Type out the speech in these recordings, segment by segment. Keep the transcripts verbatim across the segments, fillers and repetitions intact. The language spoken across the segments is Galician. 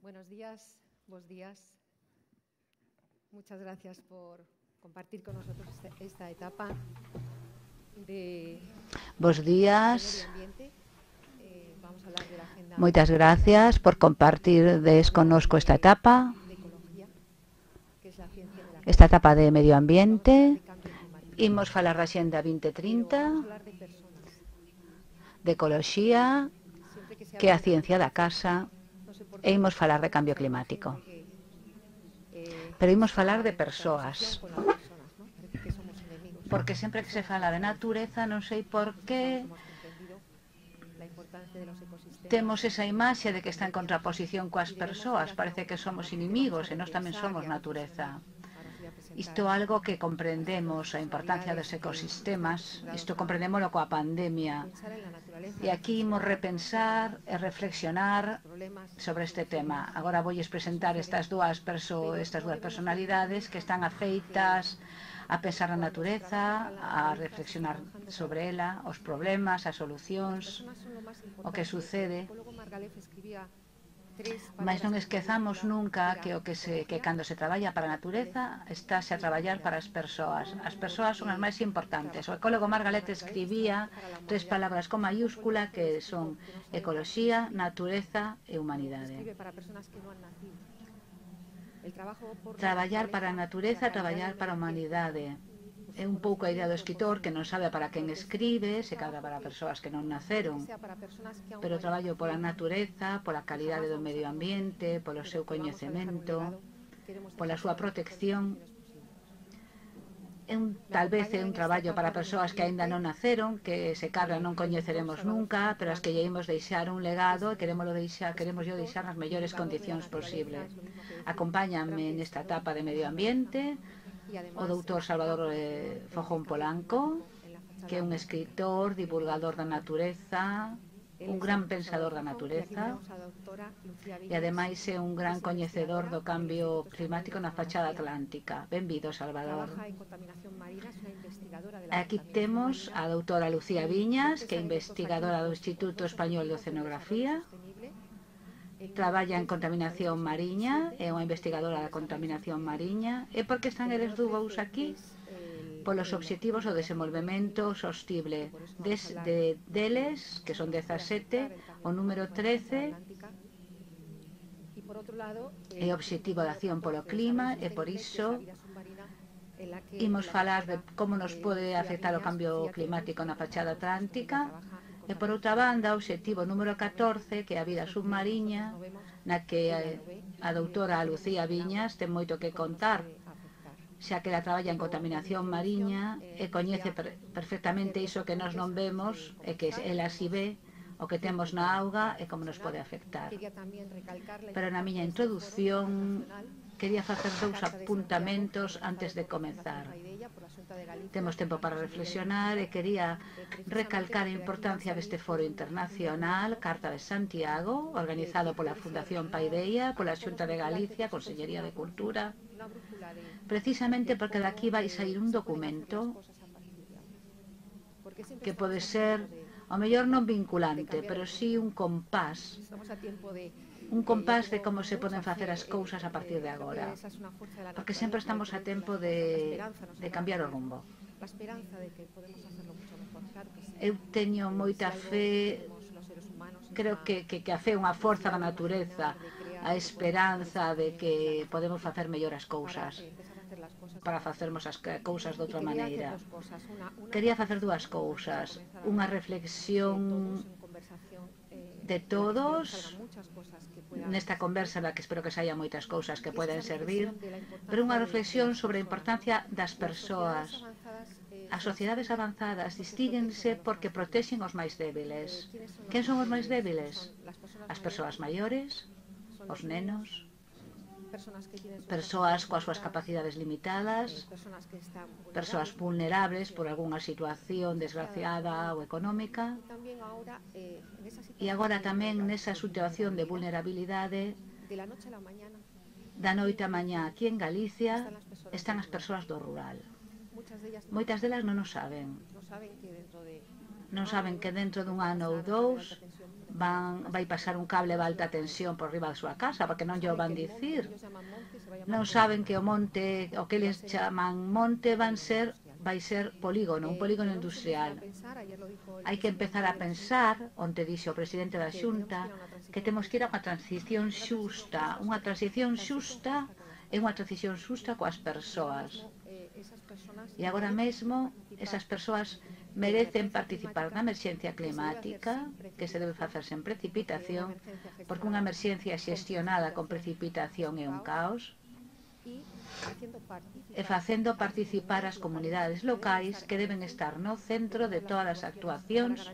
Buenos días, bos días. Muchas gracias por compartir con nosotros esta, esta etapa de Bos días. medio ambiente. Eh, vamos a hablar de la agenda. Moitas gracias por compartir conosco esta etapa, de ecología, que es la ciencia de la esta etapa de medio ambiente. Imos falar da Xenda vinte trinta, vamos a hablar de personas. de ecoloxía, Que, que é a ciencia da casa, e imos falar de cambio climático. Pero imos falar de persoas, porque sempre que se fala de natureza non sei por que temos esa imaxe de que está en contraposición coas persoas. Parece que somos inimigos e nós tamén somos natureza. Isto é algo que comprendemos, a importancia dos ecosistemas. Isto comprendémoslo coa pandemia. E aquí imos repensar e reflexionar sobre este tema. Agora voulles presentar estas dúas, perso estas dúas personalidades que están afeitas a pensar na natureza, a reflexionar sobre ela, os problemas, as solucións, o que sucede. Mas non esquezamos nunca que o que se que cando se traballa para a natureza estáse a traballar para as persoas. As persoas son as máis importantes. O ecólogo Margaret escribía tres palabras con mayúscula que son ecoloxía, natureza e humanidade. Traballar para a natureza, traballar para a humanidade. É un pouco a idea do escritor que non sabe para quen escribe, se cadra para persoas que non naceron, pero traballo pola natureza, pola calidade do medio ambiente, polo seu coñecemento, pola súa protección. É un, tal vez é un traballo para persoas que aínda non naceron, que se cadra non coñeceremos nunca, pero as que lle imos deixar un legado e queremos deixar, queremos yo deixar nas mellores condicións posibles. Acompáñame nesta etapa de medio ambiente o doutor Salvador eh, Fojón Polanco, que é un escritor, divulgador da natureza, un gran pensador da natureza e ademais é un gran coñecedor do cambio climático na fachada atlántica. Benvido, Salvador. Aquí temos a doutora Lucía Viñas, que é investigadora do Instituto Español de Oceanografía. Traballa en contaminación mariña, é unha investigadora da contaminación mariña. E por que están eles dúbos aquí? Polos obxectivos do desenvolvemento sostible des, de, deles, que son dezasete, o número trece é o obxectivo de acción polo clima, e por iso imos falar de como nos pode afectar o cambio climático na fachada atlántica. E por outra banda, o obxectivo número catorce, que é a vida submarina, na que a doutora Lucía Viñas ten moito que contar, xa que ela traballa en contaminación mariña e coñece per perfectamente iso que nós non vemos e que ela si ve, o que temos na auga e como nos pode afectar. Pero na miña introducción quería facer dous apuntamentos antes de comezar. Temos tempo para reflexionar e quería recalcar a importancia deste foro internacional, Carta de Santiago, organizado pola Fundación Paideia, pola Xunta de Galicia, Consellería de Cultura, precisamente porque daqui vai sair un documento que pode ser, ao mellor non vinculante, pero sí un compás, un compás de como se poden facer as cousas a partir de agora, porque sempre estamos a tempo de, de cambiar o rumbo. Eu teño moita fe, creo que, que, que a fe é unha forza da natureza, a esperanza de que podemos facer mellor as cousas, para facermos as cousas de outra maneira. Quería facer dúas cousas, unha reflexión de todos nesta conversa na que espero que saia moitas cousas que poden servir, pero unha reflexión sobre a importancia das persoas. As sociedades avanzadas distínguense porque protexen os máis débiles. Quen son os máis débiles? As persoas maiores, os nenos, persoas coas súas capacidades limitadas, persoas vulnerables por algunha situación desgraciada ou económica, e agora tamén nesa situación de vulnerabilidade, da noite a mañá aquí en Galicia están as persoas do rural. Moitas delas non o saben. Non saben que dentro dun ano ou dous van, vai pasar un cable de alta tensión por riba da súa casa, porque non lle van dicir. Non saben que o monte, o que eles chaman monte, van ser, vai ser polígono, un polígono industrial. Hai que empezar a pensar, onde dixe o presidente da Xunta, que temos que ir a unha transición xusta, unha transición xusta é unha transición xusta coas persoas. E agora mesmo, esas persoas merecen participar na emerxencia climática, que se debe facer sen precipitación, porque unha emerxencia xestionada con precipitación é un caos, e facendo participar as comunidades locais que deben estar no centro de todas as actuacións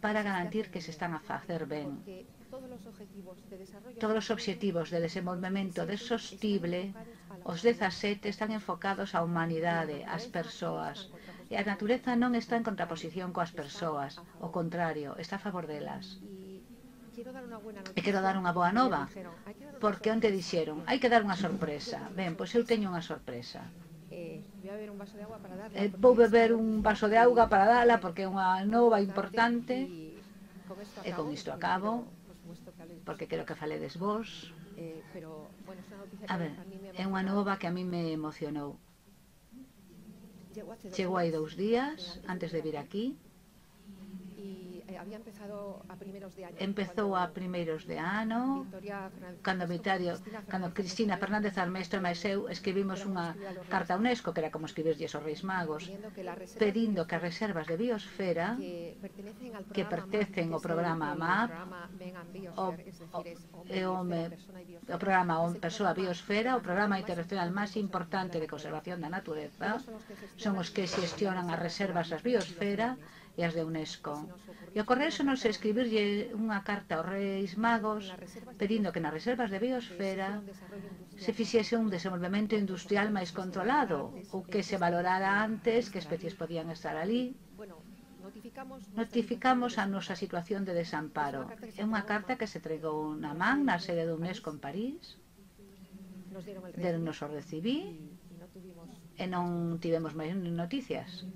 para garantir que se están a facer ben. Todos os obxectivos de desenvolvemento sostible, os dezasete, están enfocados á humanidade, ás persoas. E a natureza non está en contraposición coas persoas, ao contrario, está a favor delas. E quero dar unha boa nova, porque onte dixeron, hai que dar unha sorpresa. Ben, pois eu teño unha sorpresa. Vou beber un vaso de auga para dala, porque é unha nova importante, e con isto acabo, porque quero que faledes vos. A ver, é unha nova que a mí me emocionou. Chegou hai dous días, antes de vir aquí. Empezou a primeiros de ano, cando Vitario, cando Cristina Fernández Armesto e eu escribimos unha carta a UNESCO, que era como escribirlles aos Reis Magos, pedindo que as reservas de biosfera que pertencen ao programa MAP, o, o, o programa Persoa Biosfera, o programa internacional máis importante de conservación da natureza, son os que xestionan as reservas das biosfera e as de UNESCO. E o Correo nos escribirlle unha carta aos Reis Magos pedindo que nas reservas de biosfera se fixese un desenvolvemento industrial máis controlado, ou que se valorara antes que especies podían estar ali. Notificamos a nosa situación de desamparo. É unha carta que se entregou na man na sede de UNESCO en París. Deronnos o recibí e non tivemos máis noticias.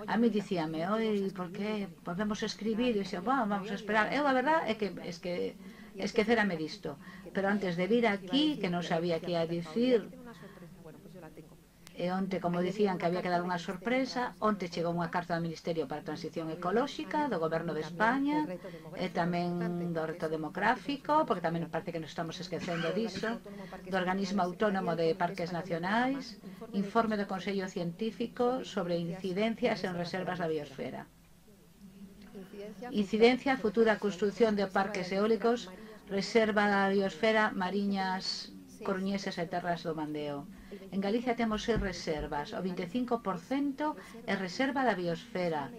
A mí dicíame, oi, por que podemos escribir? E dixo, bueno, vamos a esperar. Eu, a verdad, é que, es que esquecerame disto. Pero antes de vir aquí, que non sabía que ia dicir, e onte, como dicían, que había que dar unha sorpresa, onte chegou unha carta do Ministerio para a Transición Ecolóxica, do Goberno de España, e tamén do reto demográfico, porque tamén parece que nos estamos esquecendo diso, do Organismo Autónomo de Parques Nacionais, informe do Consello Científico sobre incidencias en reservas da biosfera. Incidencia, futura construción de parques eólicos, reserva da biosfera, mariñas, coruñeses e terras do Mandeo. En Galicia temos seis reservas, o vinte e cinco por cento é reserva da biosfera,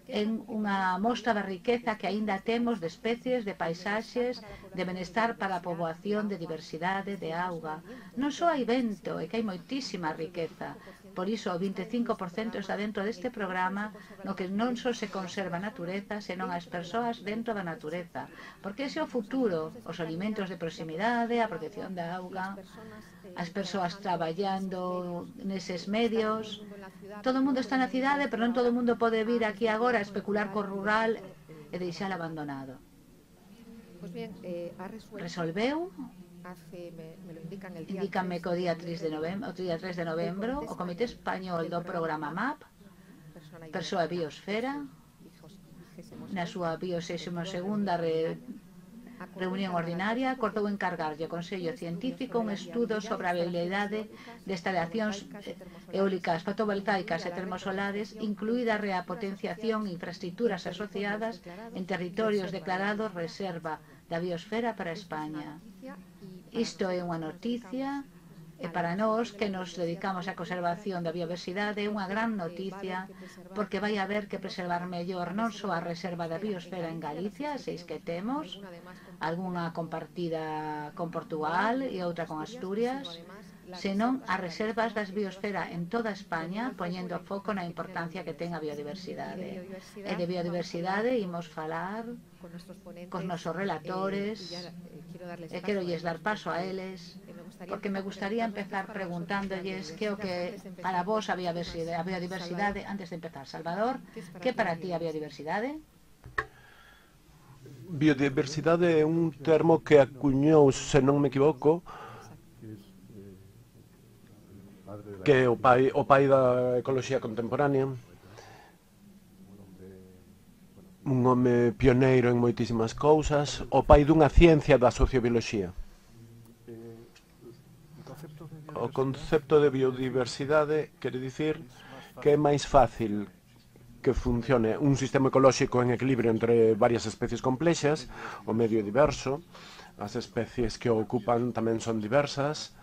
en unha mostra da riqueza que aínda temos de especies, de paisaxes, de benestar para a poboación, de diversidade, de auga. Non só hai vento, é que hai moitísima riqueza. Por iso o vinte e cinco por cento está dentro deste programa no que non só se conserva a natureza, senón as persoas dentro da natureza. Porque ese é o futuro, os alimentos de proximidade, a protección da auga, as persoas traballando neses medios. Todo o mundo está na cidade, pero non todo o mundo pode vir aquí agora a especular co rural e deixar abandonado. Resolveu, indícanme que o día tres de novembro, o día tres de novembro, o Comité Español do programa MAP, Persoa Biosfera, na súa biosexima segunda reunión ordinaria, acordou encargarlle ao Consello Científico un estudo sobre a viabilidade de instalacións eólicas fotovoltaicas e termosolares, incluída a reapotenciación e infraestructuras asociadas en territorios declarados reserva da biosfera para España. Isto é unha noticia e para nós que nos dedicamos á conservación da biodiversidade é unha gran noticia, porque vai haber que preservar mellor non só a reserva da biosfera en Galicia, seis que temos, algunha compartida con Portugal e outra con Asturias, senón as reservas das biosfera en toda España, poñendo foco na importancia que ten a biodiversidade. E de biodiversidade imos falar cos nosos relatores, e quero lles dar paso a eles, porque me gustaría empezar preguntándolles que o que para vos a biodiversidade, a biodiversidade antes de empezar. Salvador, que para ti a biodiversidade? Biodiversidade é un termo que acuñou, se non me equivoco, que é o pai, o pai da ecoloxía contemporánea, un home pioneiro en moitísimas cousas, o pai dunha ciencia da sociobioloxía. O concepto de biodiversidade quere dicir que é máis fácil que funcione un sistema ecolóxico en equilibrio entre varias especies complexas, o medio diverso, as especies que o ocupan tamén son diversas,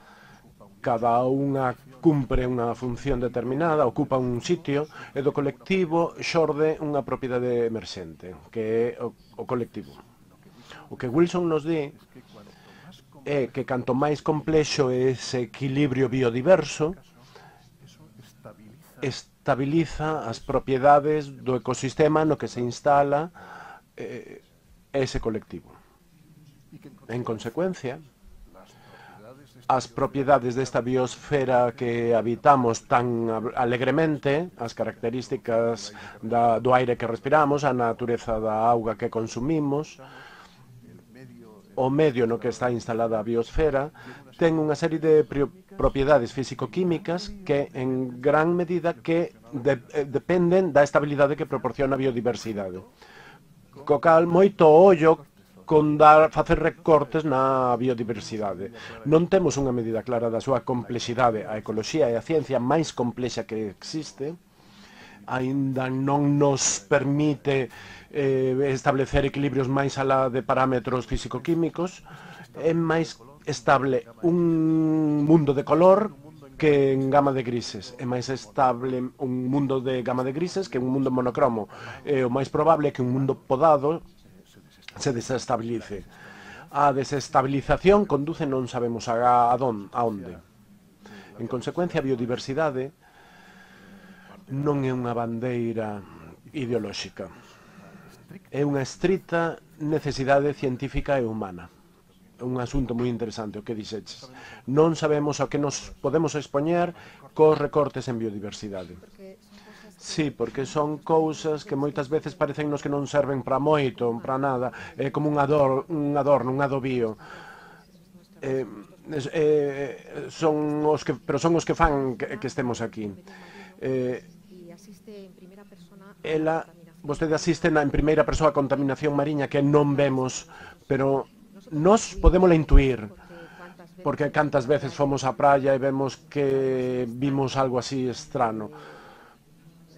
cada unha cumpre unha función determinada, ocupa un sitio, e do colectivo xorde unha propiedade emerxente, que é o, o colectivo. O que Wilson nos di é que canto máis complexo é ese equilibrio biodiverso, estabiliza as propiedades do ecosistema no que se instala eh, ese colectivo. En consecuencia, as propiedades desta biosfera que habitamos tan alegremente, as características da, do aire que respiramos, a natureza da auga que consumimos, o medio no que está instalada a biosfera, ten unha serie de propiedades físico-químicas que en gran medida que de, eh, dependen da estabilidade que proporciona a biodiversidade. Co cal, moito ollo con dar, facer recortes na biodiversidade. Non temos unha medida clara da súa complexidade. A ecoloxía é a ciencia máis complexa que existe. Aínda non nos permite eh, establecer equilibrios máis alá de parámetros físico-químicos. É máis estable un mundo de color que en gama de grises. É máis estable un mundo de gama de grises que un mundo monocromo. É o máis probable que un mundo podado se desestabilice. A desestabilización conduce non sabemos a, a, don, a onde. En consecuencia, a biodiversidade non é unha bandeira ideolóxica. É unha estrita necesidade científica e humana. É un asunto moi interesante o que dixeches. Non sabemos ao que nos podemos expoñer cos recortes en biodiversidade. Sí, porque son cousas que moitas veces parecennos que non serven para moito, para nada, é como un adorno, un adorno, un adobío. Eh, eh, son os que, pero son os que fan que, que estemos aquí. Eh, ela, vostede asiste na, en primeira persoa a contaminación mariña que non vemos, pero nos podémola intuir, porque cantas veces fomos á praia e vemos que vimos algo así estrano.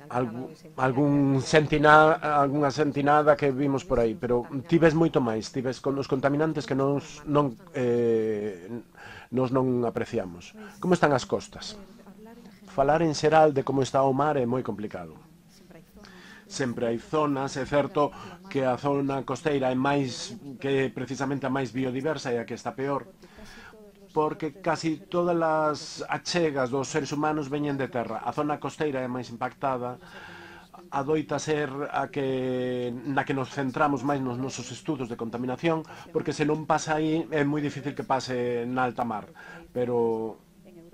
Algún, algún sentinada, algunha sentinada que vimos por aí, pero ti ves moito máis, ti ves con os contaminantes que nos non, eh, nos non apreciamos. Como están as costas? Falar en xeral de como está o mar é moi complicado. Sempre hai zonas, é certo que a zona costeira é máis, que precisamente a máis biodiversa e a que está peor, porque casi todas as achegas dos seres humanos veñen de terra. A zona costeira é máis impactada, adoita ser a que, na que nos centramos máis nos nosos estudos de contaminación, porque se non pasa aí é moi difícil que pase na alta mar. Pero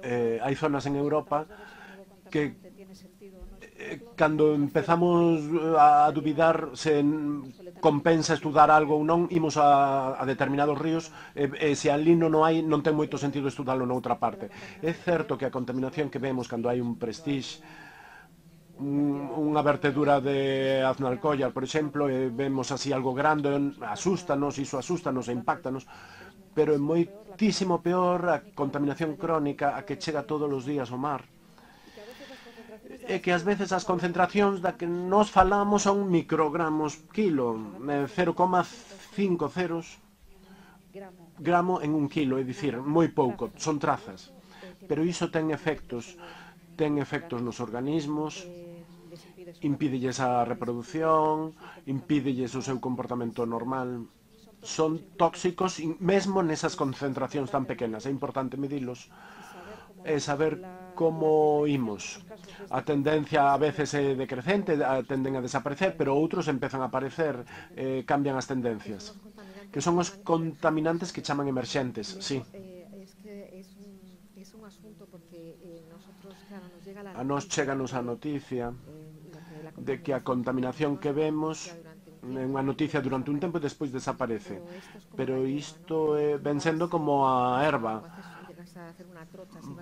eh, hai zonas en Europa que eh, cando empezamos a dubidar se compensa estudar algo ou non, imos a, a determinados ríos e, e se ali non hai, non ten moito sentido estudarlo noutra parte. É certo que a contaminación que vemos cando hai un Prestige, un, unha vertedura de Aznalcóllar, por exemplo, e vemos así algo grande, asústanos, iso asústanos e impactanos, pero é moitísimo peor a contaminación crónica a que chega todos os días ao mar. É que ás veces as concentracións da que nos falamos son microgramos kilo, cero coma cinco ceros gramo en un kilo, é dicir, moi pouco, son trazas. Pero iso ten efectos, ten efectos nos organismos, impídelles a reproducción, impídelles o seu comportamento normal. Son tóxicos mesmo nesas concentracións tan pequenas, é importante medilos e saber como imos. A tendencia a veces é decrecente, tenden a desaparecer, pero outros empezan a aparecer, eh, cambian as tendencias. Que son os contaminantes que chaman emerxentes, sí. A nos cheganos a noticia de que a contaminación que vemos é unha noticia durante un tempo e despois desaparece. Pero isto eh, ven sendo como a erva.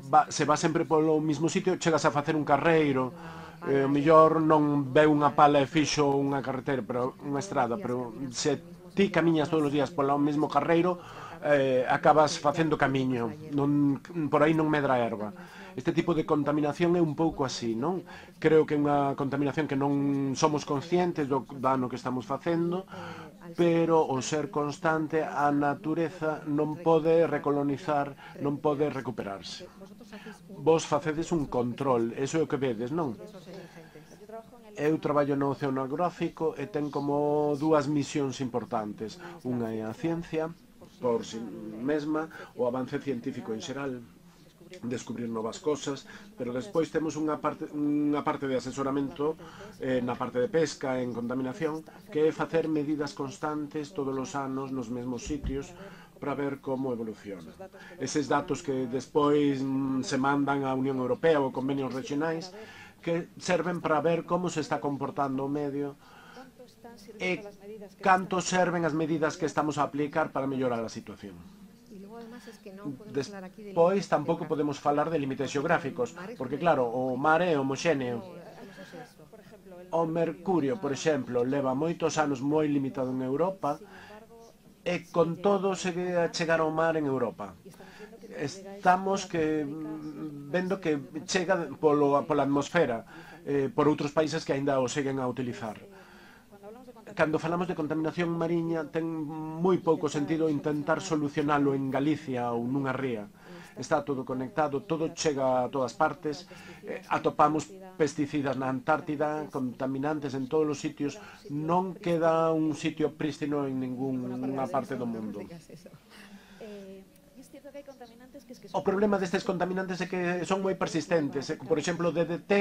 Va, se va sempre polo mismo sitio, chegas a facer un carreiro, eh, o mellor non ve unha pala e fixo unha carretera, pero unha estrada, pero se ti camiñas todos os días polo mesmo carreiro, eh, acabas facendo camiño, non, por aí non medra a erva. Este tipo de contaminación é un pouco así, non? Creo que é unha contaminación que non somos conscientes do dano que estamos facendo, pero o ser constante, a natureza non pode recolonizar, non pode recuperarse. Vos facedes un control, eso é o que vedes, non? Eu traballo no oceanográfico e ten como dúas misións importantes. Unha é a ciencia, por si mesma, o avance científico en xeral, descubrir novas cosas, pero despois temos unha parte, unha parte de asesoramento eh, na parte de pesca, en contaminación, que é facer medidas constantes todos os anos nos mesmos sitios para ver como evoluciona. Eses datos que despois mm, se mandan á Unión Europea ou convenios regionais que serven para ver como se está comportando o medio e canto serven as medidas que estamos a aplicar para mellorar a situación. Despois tampouco podemos falar de límites xeográficos, porque claro, o mar é homoxéneo. O mercurio, por exemplo, leva moitos anos moi limitado en Europa e con todo segue a chegar ao mar en Europa. Estamos que vendo que chega polo, pola atmosfera eh, por outros países que aínda o seguen a utilizar. Cando falamos de contaminación mariña ten moi pouco sentido intentar solucionalo en Galicia ou nunha ría. Está todo conectado, todo chega a todas partes, eh, atopamos pesticidas na Antártida, contaminantes en todos os sitios, non queda un sitio prístino en ninguna parte do mundo. O problema destes contaminantes é que son moi persistentes. Por exemplo, o D D T,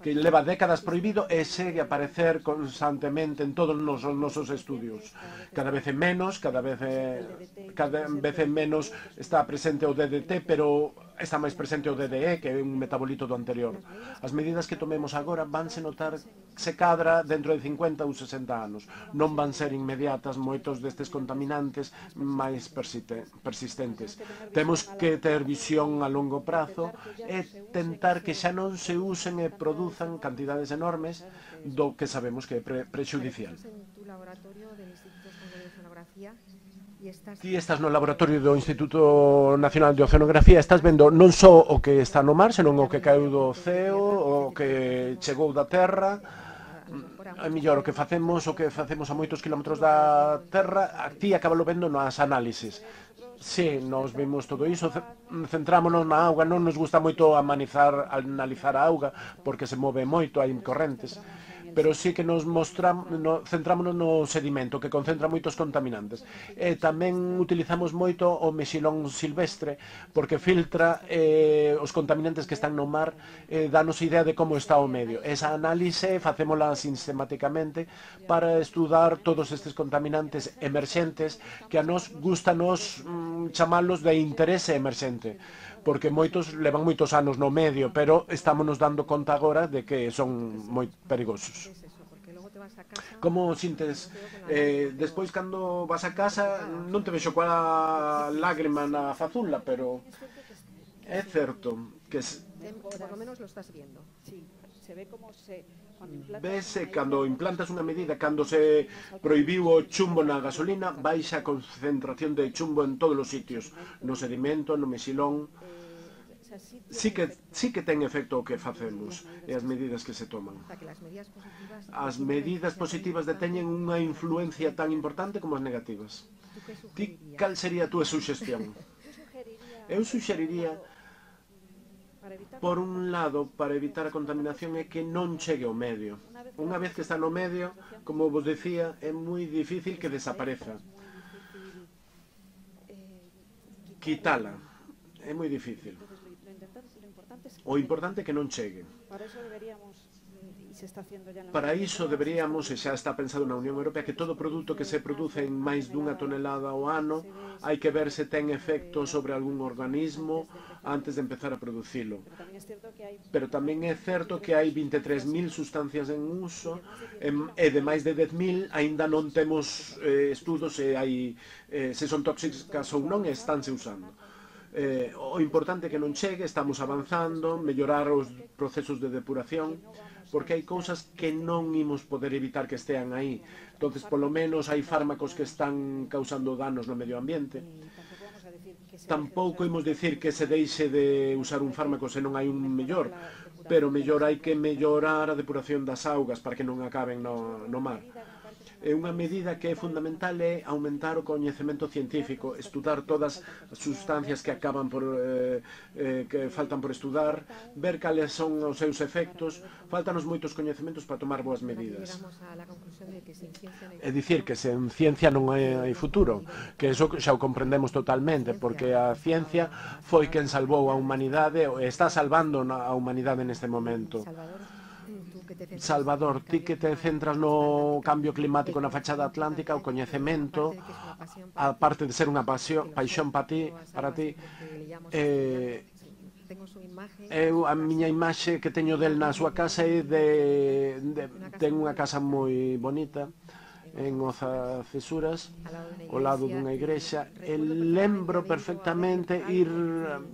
que leva décadas prohibido e segue a aparecer constantemente en todos os nosos estudios. Cada vez é menos, cada vez é, cada vez é menos está presente o D D T, pero está máis presente o D D E, que é un metabolito do anterior. As medidas que tomemos agora vanse notar se cadra dentro de cincuenta ou sesenta anos. Non van ser inmediatas moitos destes contaminantes máis persistentes. Temos que ter visión a longo prazo e tentar que xa non se usen e produzan cantidades enormes do que sabemos que é pre prexudicial. Ti estás no laboratorio do Instituto Nacional de Oceanografía, estás vendo non só o que está no mar, senón o que caeu do ceo, o que chegou da terra. É mellor o que facemos, o que facemos a moitos kilómetros da terra, a ti acabalo vendo nas análisis. Sí, nos vimos todo iso, centrámonos na auga, non nos gusta moito analizar, analizar a auga, porque se move moito, hai correntes, pero sí que nos mostramos, no, centrámonos no sedimento, que concentra moitos contaminantes. E tamén utilizamos moito o mexilón silvestre, porque filtra eh, os contaminantes que están no mar, eh, danos idea de como está o medio. Esa análise facémola sistemáticamente para estudar todos estes contaminantes emerxentes que a nos gusta nos mm, chamalos de interese emerxente, porque moitos levan moitos anos no medio, pero estámonos dando conta agora de que son moi perigosos. Como sintes? Eh, despois, cando vas a casa, non te vexo coa lágrima na fazulla, pero é certo que... Por lo menos lo estás viendo. Vese, cando implantas unha medida, cando se prohibiu o chumbo na gasolina, baixa a concentración de chumbo en todos os sitios, no sedimento, no mexilón. Sí que, sí que ten efecto o que facemos e as medidas que se toman. As medidas positivas deteñen unha influencia tan importante como as negativas. Ti, cal sería a túa suxestión? Eu suxeriría, por un lado, para evitar a contaminación, é que non chegue ao medio. Unha vez que está no medio, como vos decía, é moi difícil que desapareza. Quitala é moi difícil. O importante é que non chegue. Para iso deberíamos, e xa está pensado na Unión Europea, que todo produto que se produce en máis dunha tonelada ao ano hai que ver se ten efecto sobre algún organismo antes de empezar a producilo. Pero tamén é certo que hai vinte e tres mil sustancias en uso e de máis de dez mil aínda non temos eh, estudos se, hai, eh, se son tóxicas ou non e estánse usando. Eh, o importante é que non chegue, estamos avanzando, mellorar os procesos de depuración, porque hai cousas que non imos poder evitar que estean aí. Entonces, polo menos, hai fármacos que están causando danos no medio ambiente. Tampouco imos dicir que se deixe de usar un fármaco se non hai un mellor, pero mellor hai que mellorar a depuración das augas para que non acaben no, no mar. É unha medida que é fundamental é aumentar o coñecemento científico, estudar todas as sustancias que acaban por eh, eh, que faltan por estudar, ver cales son os seus efectos. Faltanos moitos coñecementos para tomar boas medidas. É dicir que sen ciencia non hai futuro, que eso xa o comprendemos totalmente, porque a ciencia foi quen salvou a humanidade e está salvando a humanidade neste momento. Salvador, ti que te centras no cambio climático na fachada atlántica, o coñecemento, aparte de ser unha pasión, paixón para ti, para ti eh, eu, a miña imaxe que teño del na súa casa é de, de ten unha casa moi bonita en Oza Cesuras, ao lado dunha igrexa, e lembro perfectamente ir,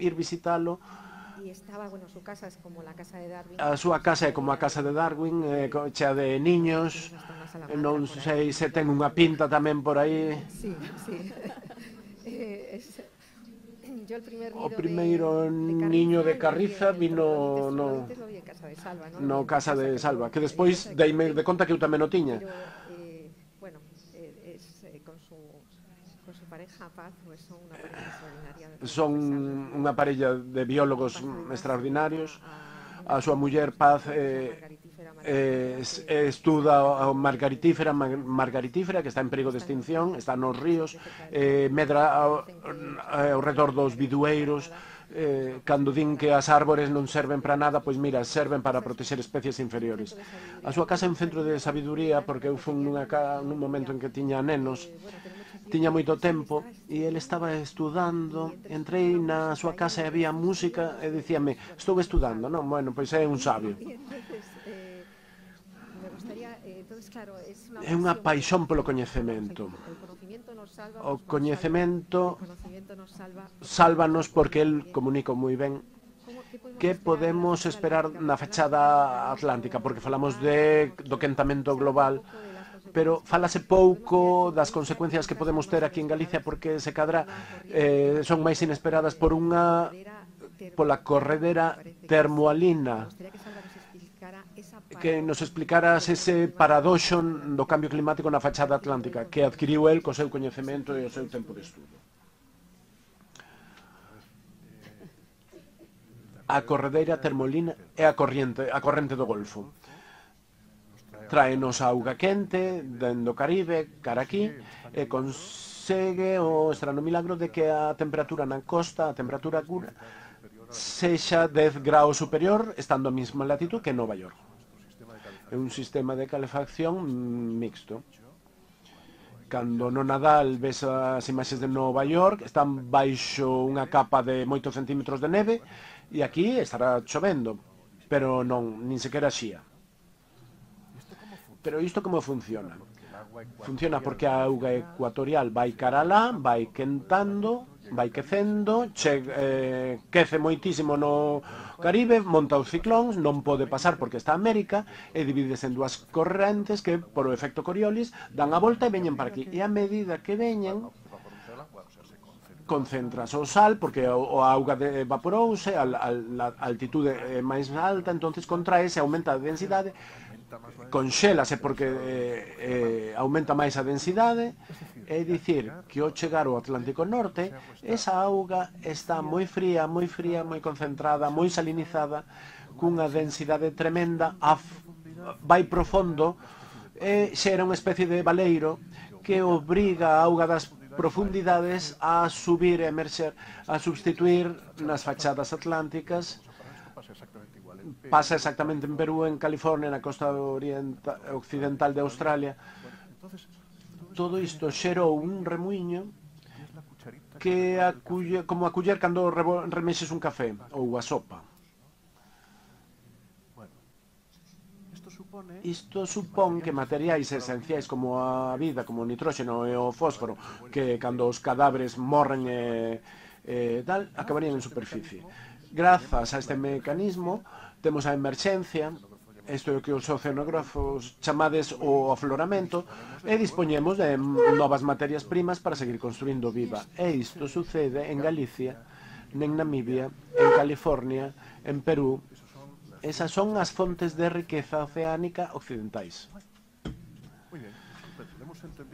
ir visitalo. A súa casa é como a casa de Darwin, eh, chea de niños, non sei se ten unha pinta tamén por aí. Sí, sí. O primeiro niño de Carriza vino no, no Casa de Salva, que despois deime de conta que eu tamén o tiña. Son unha parella de biólogos extraordinarios. A súa muller Paz eh, eh, estuda a margaritífera, margaritífera que está en perigo de extinción, está nos ríos, eh, medra ao, ao redor dos bidueiros. Eh, cando din que as árbores non serven para nada, pois mira, serven para protexer especies inferiores. A súa casa é un centro de sabiduría, porque eu fui nunha, nun momento en que tiña nenos, tiña moito tempo, e ele estaba estudando. Entrei na súa casa e había música, e dicíame, estou estudando, non? Bueno, pois é un sabio. É unha paixón polo coñecemento. O coñecemento sálvanos porque el comunica moi ben. Que podemos esperar na fachada atlántica? Porque falamos de, do quentamento global, pero falase pouco das consecuencias que podemos ter aquí en Galicia, porque se cadra eh, son máis inesperadas por unha pola corredera termoalina. Que nos explicaras ese paradoxo do cambio climático na fachada atlántica que adquiriu el co seu coñecemento e o seu tempo de estudo. A corredeira termoalina é a corrente, a corrente do Golfo. Traenos a auga quente dentro do Caribe, cara aquí, e consegue o estrano milagro de que a temperatura na costa, a temperatura cura, sexa dez graus superior, estando a mesma latitud que Nova York. É un sistema de calefacción mixto. Cando no Nadal ves as imaxes de Nova York, están baixo unha capa de moitos centímetros de neve, e aquí estará chovendo, pero non, nin sequera xía. Pero isto como funciona? Funciona porque a auga ecuatorial vai cara alá, vai quentando, vai quecendo, che, eh, quece moitísimo no Caribe, monta os ciclóns, non pode pasar porque está a América, e divídese en dúas correntes que, por o efecto Coriolis, dan a volta e veñen para aquí. E a medida que veñen, concentras o sal, porque a auga evaporouse, a altitude máis alta, entonces contraese, aumenta a densidade, conxélase porque eh, eh, aumenta máis a densidade. É dicir, que ao chegar ao Atlántico Norte, esa auga está moi fría, moi fría, moi concentrada, moi salinizada, cunha densidade tremenda, vai profundo, e xera unha especie de baleiro que obriga a auga das profundidades a subir e emerxer, a substituir nas fachadas atlánticas pasa exactamente en Perú, en California, na costa oriental, occidental de Australia. Todo isto xerou un remuiño que a culler, como a culler cando remexes un café ou a sopa. Isto supón que materiais esenciais como a vida, como o nitróxeno e o fósforo, que cando os cadáveres morren e, e tal, acabarían en superficie. Grazas a este mecanismo, temos a emerxencia, isto é o que os oceanógrafos chamades o afloramento, e dispoñemos de novas materias primas para seguir construindo vida. E isto sucede en Galicia, en Namibia, en California, en Perú. Esas son as fontes de riqueza oceánica occidentais.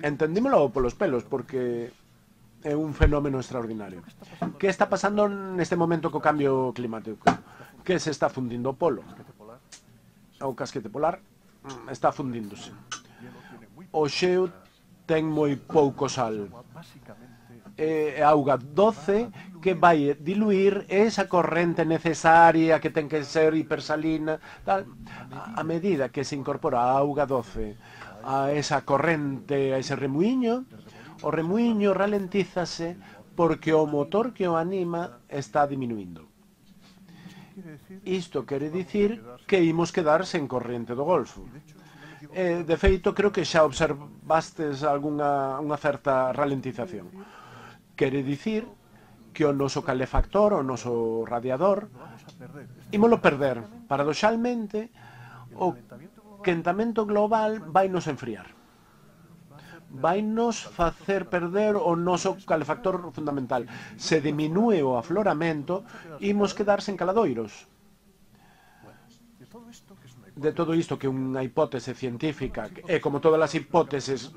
Entendímolo polos pelos, porque é un fenómeno extraordinario. Que está pasando neste momento co cambio climático? Que se está fundindo o polo. O casquete polar está fundíndose. O xeo ten moi pouco sal. É auga doce que vai diluir esa corrente necesaria que ten que ser hipersalina, tal. A medida que se incorpora a auga doce a esa corrente, a ese remuiño, o remuiño ralentízase porque o motor que o anima está diminuindo. Isto quere dicir que imos quedar sen corrente do Golfo. E, de feito, creo que xa observastes algunha unha certa ralentización. Quere dicir que o noso calefactor, o noso radiador, ímolo perder. Paradoxalmente, o quentamento global vai nos enfriar. Vai nos facer perder o noso calefactor fundamental. Se diminúe o afloramento, imos quedar sen caladoiros. De todo isto, que é unha hipótese científica, e como todas as hipóteses,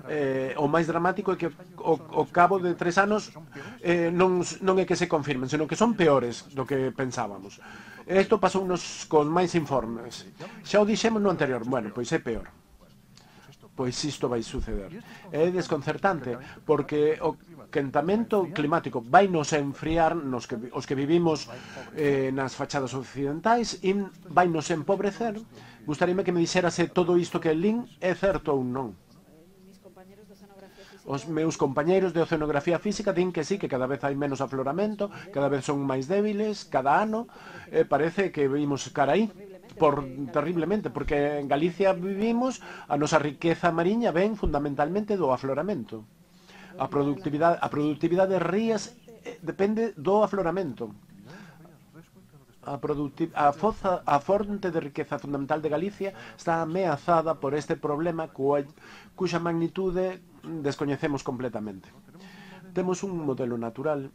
eh, o máis dramático é que ao, ao cabo de tres anos eh, non, non é que se confirmen, senón que son peores do que pensábamos. Isto pasounos con máis informes. Xa o dixemos no anterior, bueno, pois é peor. Pois isto vai suceder. É desconcertante, porque o quentamento climático vai nos enfriar, nos que, os que vivimos eh, nas fachadas occidentais, e vai nos empobrecer. Gustaríame que me dixera se todo isto que lin é certo ou non. Os meus compañeiros de oceanografía física din que sí, que cada vez hai menos afloramento, cada vez son máis débiles, cada ano, eh, parece que vimos cara aí. Por, terriblemente, porque en Galicia vivimos, a nosa riqueza mariña ven fundamentalmente do afloramento. A productividade, a productividade de rías eh, depende do afloramento. A, a, foza, a fonte de riqueza fundamental de Galicia está ameazada por este problema cual, cuxa magnitude descoñecemos completamente. Temos un modelo natural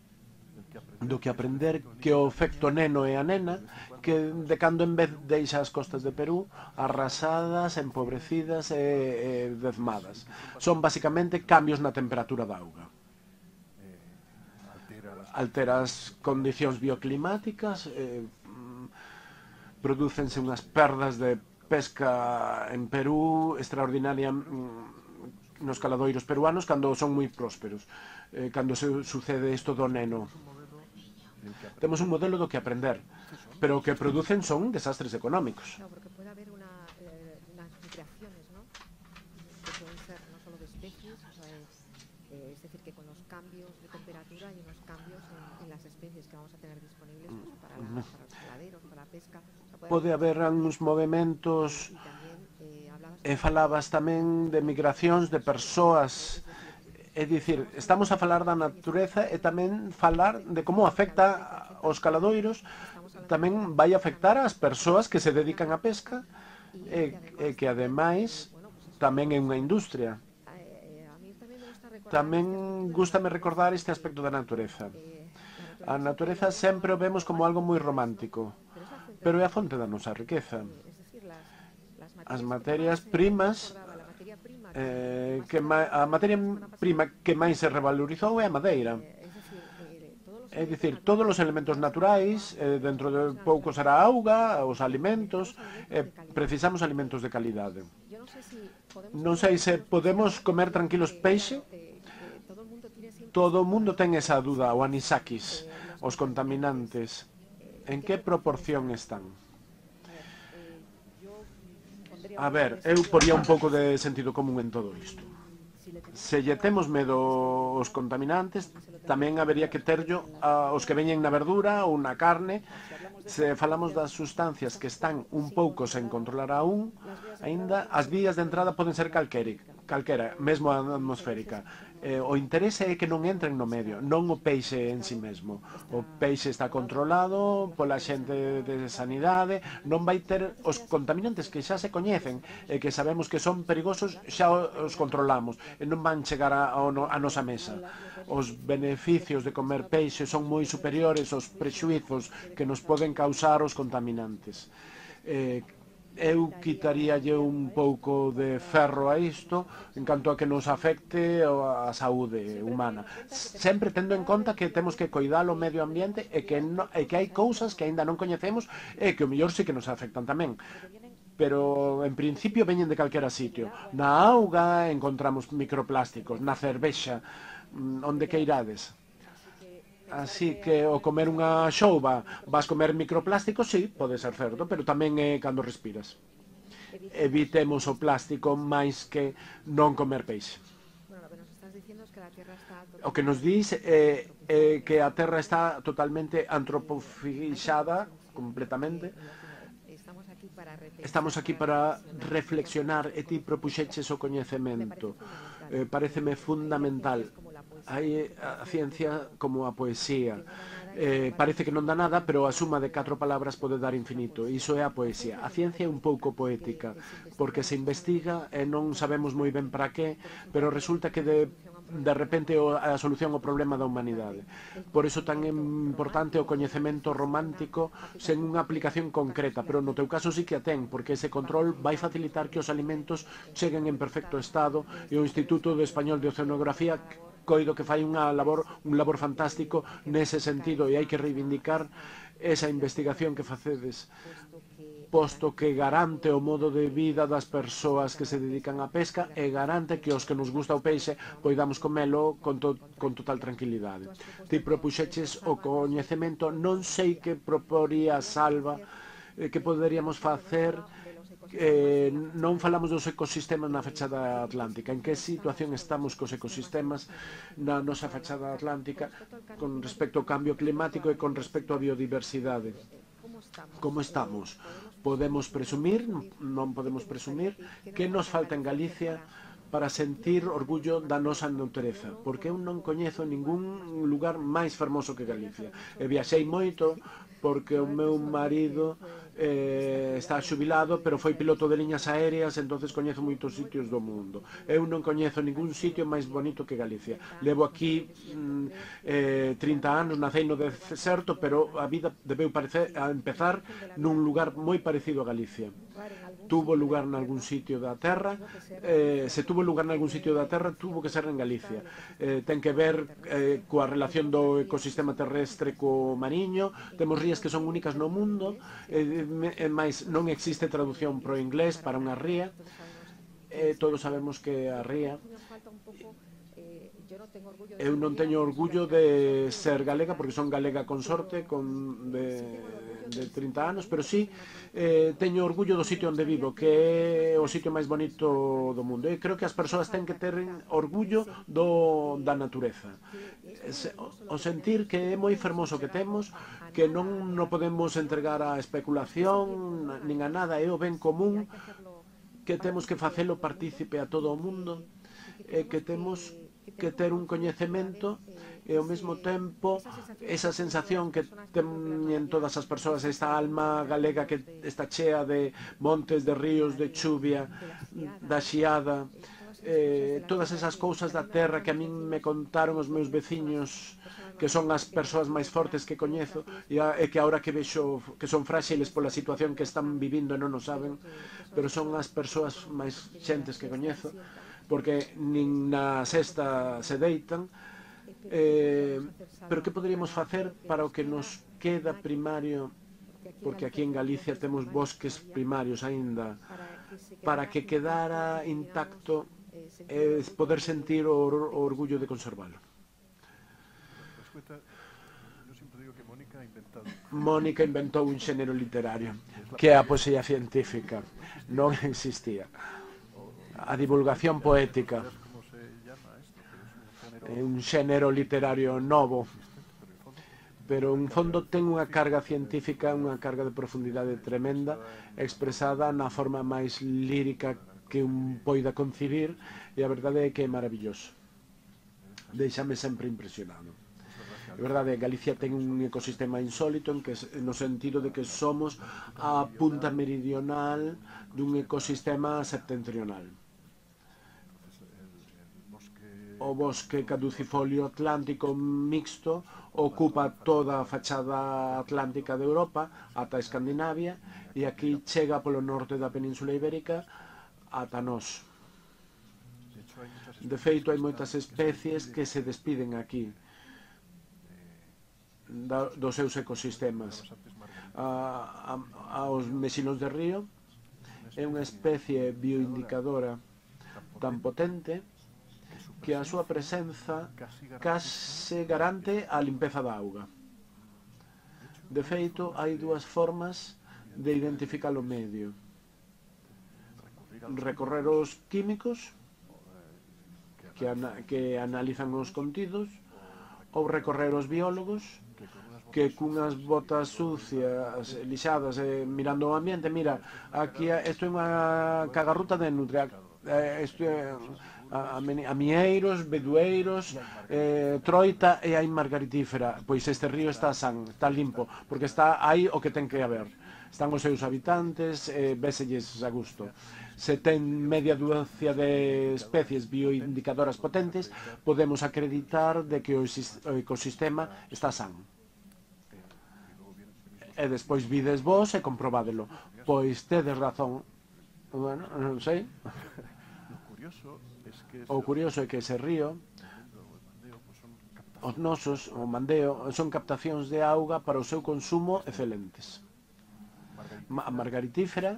do que aprender que o efecto neno e a nena, que de cando en vez deixa as costas de Perú arrasadas, empobrecidas e, e dezmadas. Son basicamente cambios na temperatura da auga. Altera as condicións bioclimáticas, eh, prodúcense unhas perdas de pesca en Perú extraordinaria nos caladoiros peruanos cando son moi prósperos, eh, cando se sucede isto do neno. Temos un modelo do que aprender, pero o que producen son desastres económicos. No, porque puede haber una, eh, unas migraciones, ¿no? Que pueden ser no solo de especies, o sea, es, eh, es decir, que con los cambios de temperatura hay unos cambios en, en las especies que vamos a tener disponibles pues, para, la, para los caladeros, para la pesca. O sea, puede Pode haber uns movimentos, e, tamén, eh, e falabas tamén de migracións de persoas. É dicir, estamos a falar da natureza e tamén falar de como afecta aos caladoiros, tamén vai afectar ás persoas que se dedican á pesca e, e que ademais tamén é unha industria. Tamén gústame recordar este aspecto da natureza. A natureza sempre o vemos como algo moi romántico, pero é a fonte da nosa riqueza. As materias primas Eh, que ma, a materia prima que máis se revalorizou é a madeira. É dicir, todos os elementos naturais, eh, dentro de pouco será a auga, os alimentos, eh, precisamos alimentos de calidade. Non sei se podemos comer tranquilos peixe. Todo o mundo ten esa duda, o anisakis, os contaminantes. En que proporción están? A ver, eu poría un pouco de sentido común en todo isto. Se lle temos medo aos contaminantes, tamén habería que terllo aos que veñen na verdura ou na carne. Se falamos das sustancias que están un pouco sen controlar aún, aínda as vías de entrada poden ser calquera, mesmo a atmosférica. Eh, o interese é que non entren no medio, non o peixe en si mesmo. O peixe está controlado pola xente de sanidade, non vai ter os contaminantes que xa se coñecen e que sabemos que son perigosos, xa os controlamos e non van chegar a, a nosa mesa. Os beneficios de comer peixe son moi superiores aos prexuizos que nos poden causar os contaminantes. Eh, eu quitaríalle un pouco de ferro a isto en canto a que nos afecte a saúde humana, sempre tendo en conta que temos que coidar o medio ambiente e que, no, e que hai cousas que aínda non coñecemos e que o mellor sí que nos afectan tamén, pero en principio veñen de calquera sitio. Na auga encontramos microplásticos, na cervexa, onde que irades. Así que o comer unha xouba vas comer microplásticos, sí, pode ser certo, pero tamén é cando respiras. Evitemos o plástico máis que non comer peixe. O que nos dís é, é que a Terra está totalmente antropofixada, completamente. Estamos aquí para reflexionar e ti propuxeches o coñecemento. Eh, pareceme fundamental. Hai a ciencia como a poesía. Eh, parece que non dá nada, pero a suma de catro palabras pode dar infinito. Iso é a poesía. A ciencia é un pouco poética, porque se investiga e non sabemos moi ben para qué, pero resulta que de, de repente a solución ao problema da humanidade. Por iso tan importante o coñecemento romántico sen unha aplicación concreta, pero no teu caso sí que a ten, porque ese control vai facilitar que os alimentos cheguen en perfecto estado e o Instituto de Español de Oceanografía coido que fai unha labor, un labor fantástico nese sentido e hai que reivindicar esa investigación que facedes, posto que garante o modo de vida das persoas que se dedican á pesca e garante que os que nos gusta o peixe poidamos comelo con, to, con total tranquilidade. Ti propuxeches o coñecemento, non sei que proporía Salva, eh, que poderíamos facer. Eh, non falamos dos ecosistemas na fachada atlántica. En que situación estamos cos ecosistemas na nosa fachada atlántica con respecto ao cambio climático e con respecto á biodiversidade? Como estamos? Podemos presumir, non podemos presumir, que nos falta en Galicia para sentir orgullo da nosa natureza, porque eu non coñezo ningún lugar máis fermoso que Galicia. E viaxei moito porque o meu marido eh, está xubilado, pero foi piloto de liñas aéreas, entonces coñezo moitos sitios do mundo. Eu non coñezo ningún sitio máis bonito que Galicia. Levo aquí mm, eh, trinta anos, nacei no deserto, pero a vida debeu parecer, a empezar nun lugar moi parecido a Galicia. Tuvo lugar en algún sitio da Terra, eh, se tuvo lugar en algún sitio da Terra, tuvo que ser en Galicia. Eh, ten que ver eh, coa relación do ecosistema terrestre co mariño, temos rías que son únicas no mundo, eh, máis non existe traducción pro inglés para unha ría, eh, todos sabemos que a ría... Eu non teño orgullo de ser galega, porque son galega con sorte, con de, de trinta anos, pero sí eh, teño orgullo do sitio onde vivo, que é o sitio máis bonito do mundo. E creo que as persoas ten que ter orgullo do, da natureza. O sentir que é moi fermoso que temos, que non no podemos entregar á especulación, nin a nada, é o ben común, que temos que facelo partícipe a todo o mundo, e que temos que ter un coñecemento e ao mesmo tempo esa sensación que teñen todas as persoas, esta alma galega que está chea de montes, de ríos, de chuvia, da xiada, eh, todas esas cousas da terra que a min me contaron os meus veciños, que son as persoas máis fortes que coñezo e, a, e que agora que vexo que son fráxiles pola situación que están vivindo e non o saben, pero son as persoas máis xentes que coñezo, porque nin na sexta se deitan, eh, pero que poderíamos facer para o que nos queda primario, porque aquí en Galicia temos bosques primarios aínda, para que quedara intacto e eh, poder sentir o, o orgullo de conservalo. Mónica inventou un xénero literario, que é a poesía científica. Non existía. A divulgación poética é un xénero literario novo, pero en fondo ten unha carga científica, unha carga de profundidade tremenda, expresada na forma máis lírica que un poida concibir, e a verdade é que é maravilloso. Deixame sempre impresionado. É verdade, Galicia ten un ecosistema insólito en que, no sentido de que somos a punta meridional dun ecosistema septentrional. O bosque caducifolio atlántico mixto ocupa toda a fachada atlántica de Europa ata Escandinavia, e aquí chega polo norte da Península Ibérica ata nós. De feito, hai moitas especies que se despiden aquí dos seus ecosistemas. A, a, aos mexinos de río é unha especie bioindicadora tan potente que a súa presenza case garante a limpeza da auga. De feito, hai dúas formas de identificar o medio: recorrer os químicos que, ana, que analizan os contidos, ou recorrer os biólogos que cunhas botas sucias, lixadas, eh, mirando o ambiente, mira, aquí isto é unha cagarruta de nutria, eh, isto é a, a mieiros, bedueiros, eh, troita, e hai margaritífera. Pois este río está san, está limpo, porque está aí o que ten que haber. Están os seus habitantes, eh, véselles a gusto. Se ten media dúcia de especies bioindicadoras potentes, podemos acreditar de que o ecosistema está san. E despois vides vos e comprobádelo. Pois tedes razón. Bueno, non sei. O curioso é que ese río, os nosos, o Mandeo, son captacións de auga para o seu consumo excelentes. A margaritífera,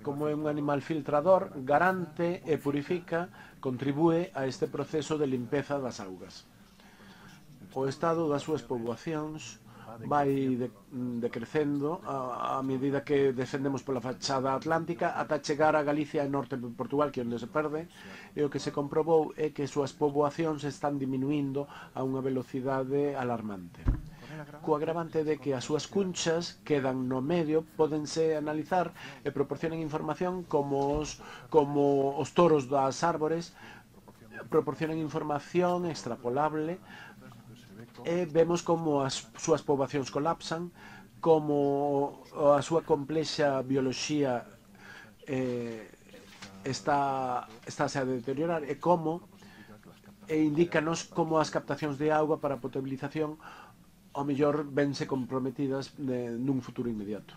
como é un animal filtrador, garante e purifica, contribúe a este proceso de limpeza das augas. O estado das súas poboacións vai decrecendo a, a medida que descendemos pola fachada atlántica ata chegar a Galicia e norte de Portugal, que é onde se perde, e o que se comprobou é que súas poboacións están diminuindo a unha velocidade alarmante. Co agravante de que as súas cunchas quedan no medio, pódense analizar e proporcionan información como os, como os toros das árbores, proporcionan información extrapolable, e vemos como as súas poboacións colapsan, como a súa complexa bioloxía eh, está, estáse a deteriorar, e como e indícanos como as captacións de auga para a potabilización ao mellor vense comprometidas de, nun futuro inmediato.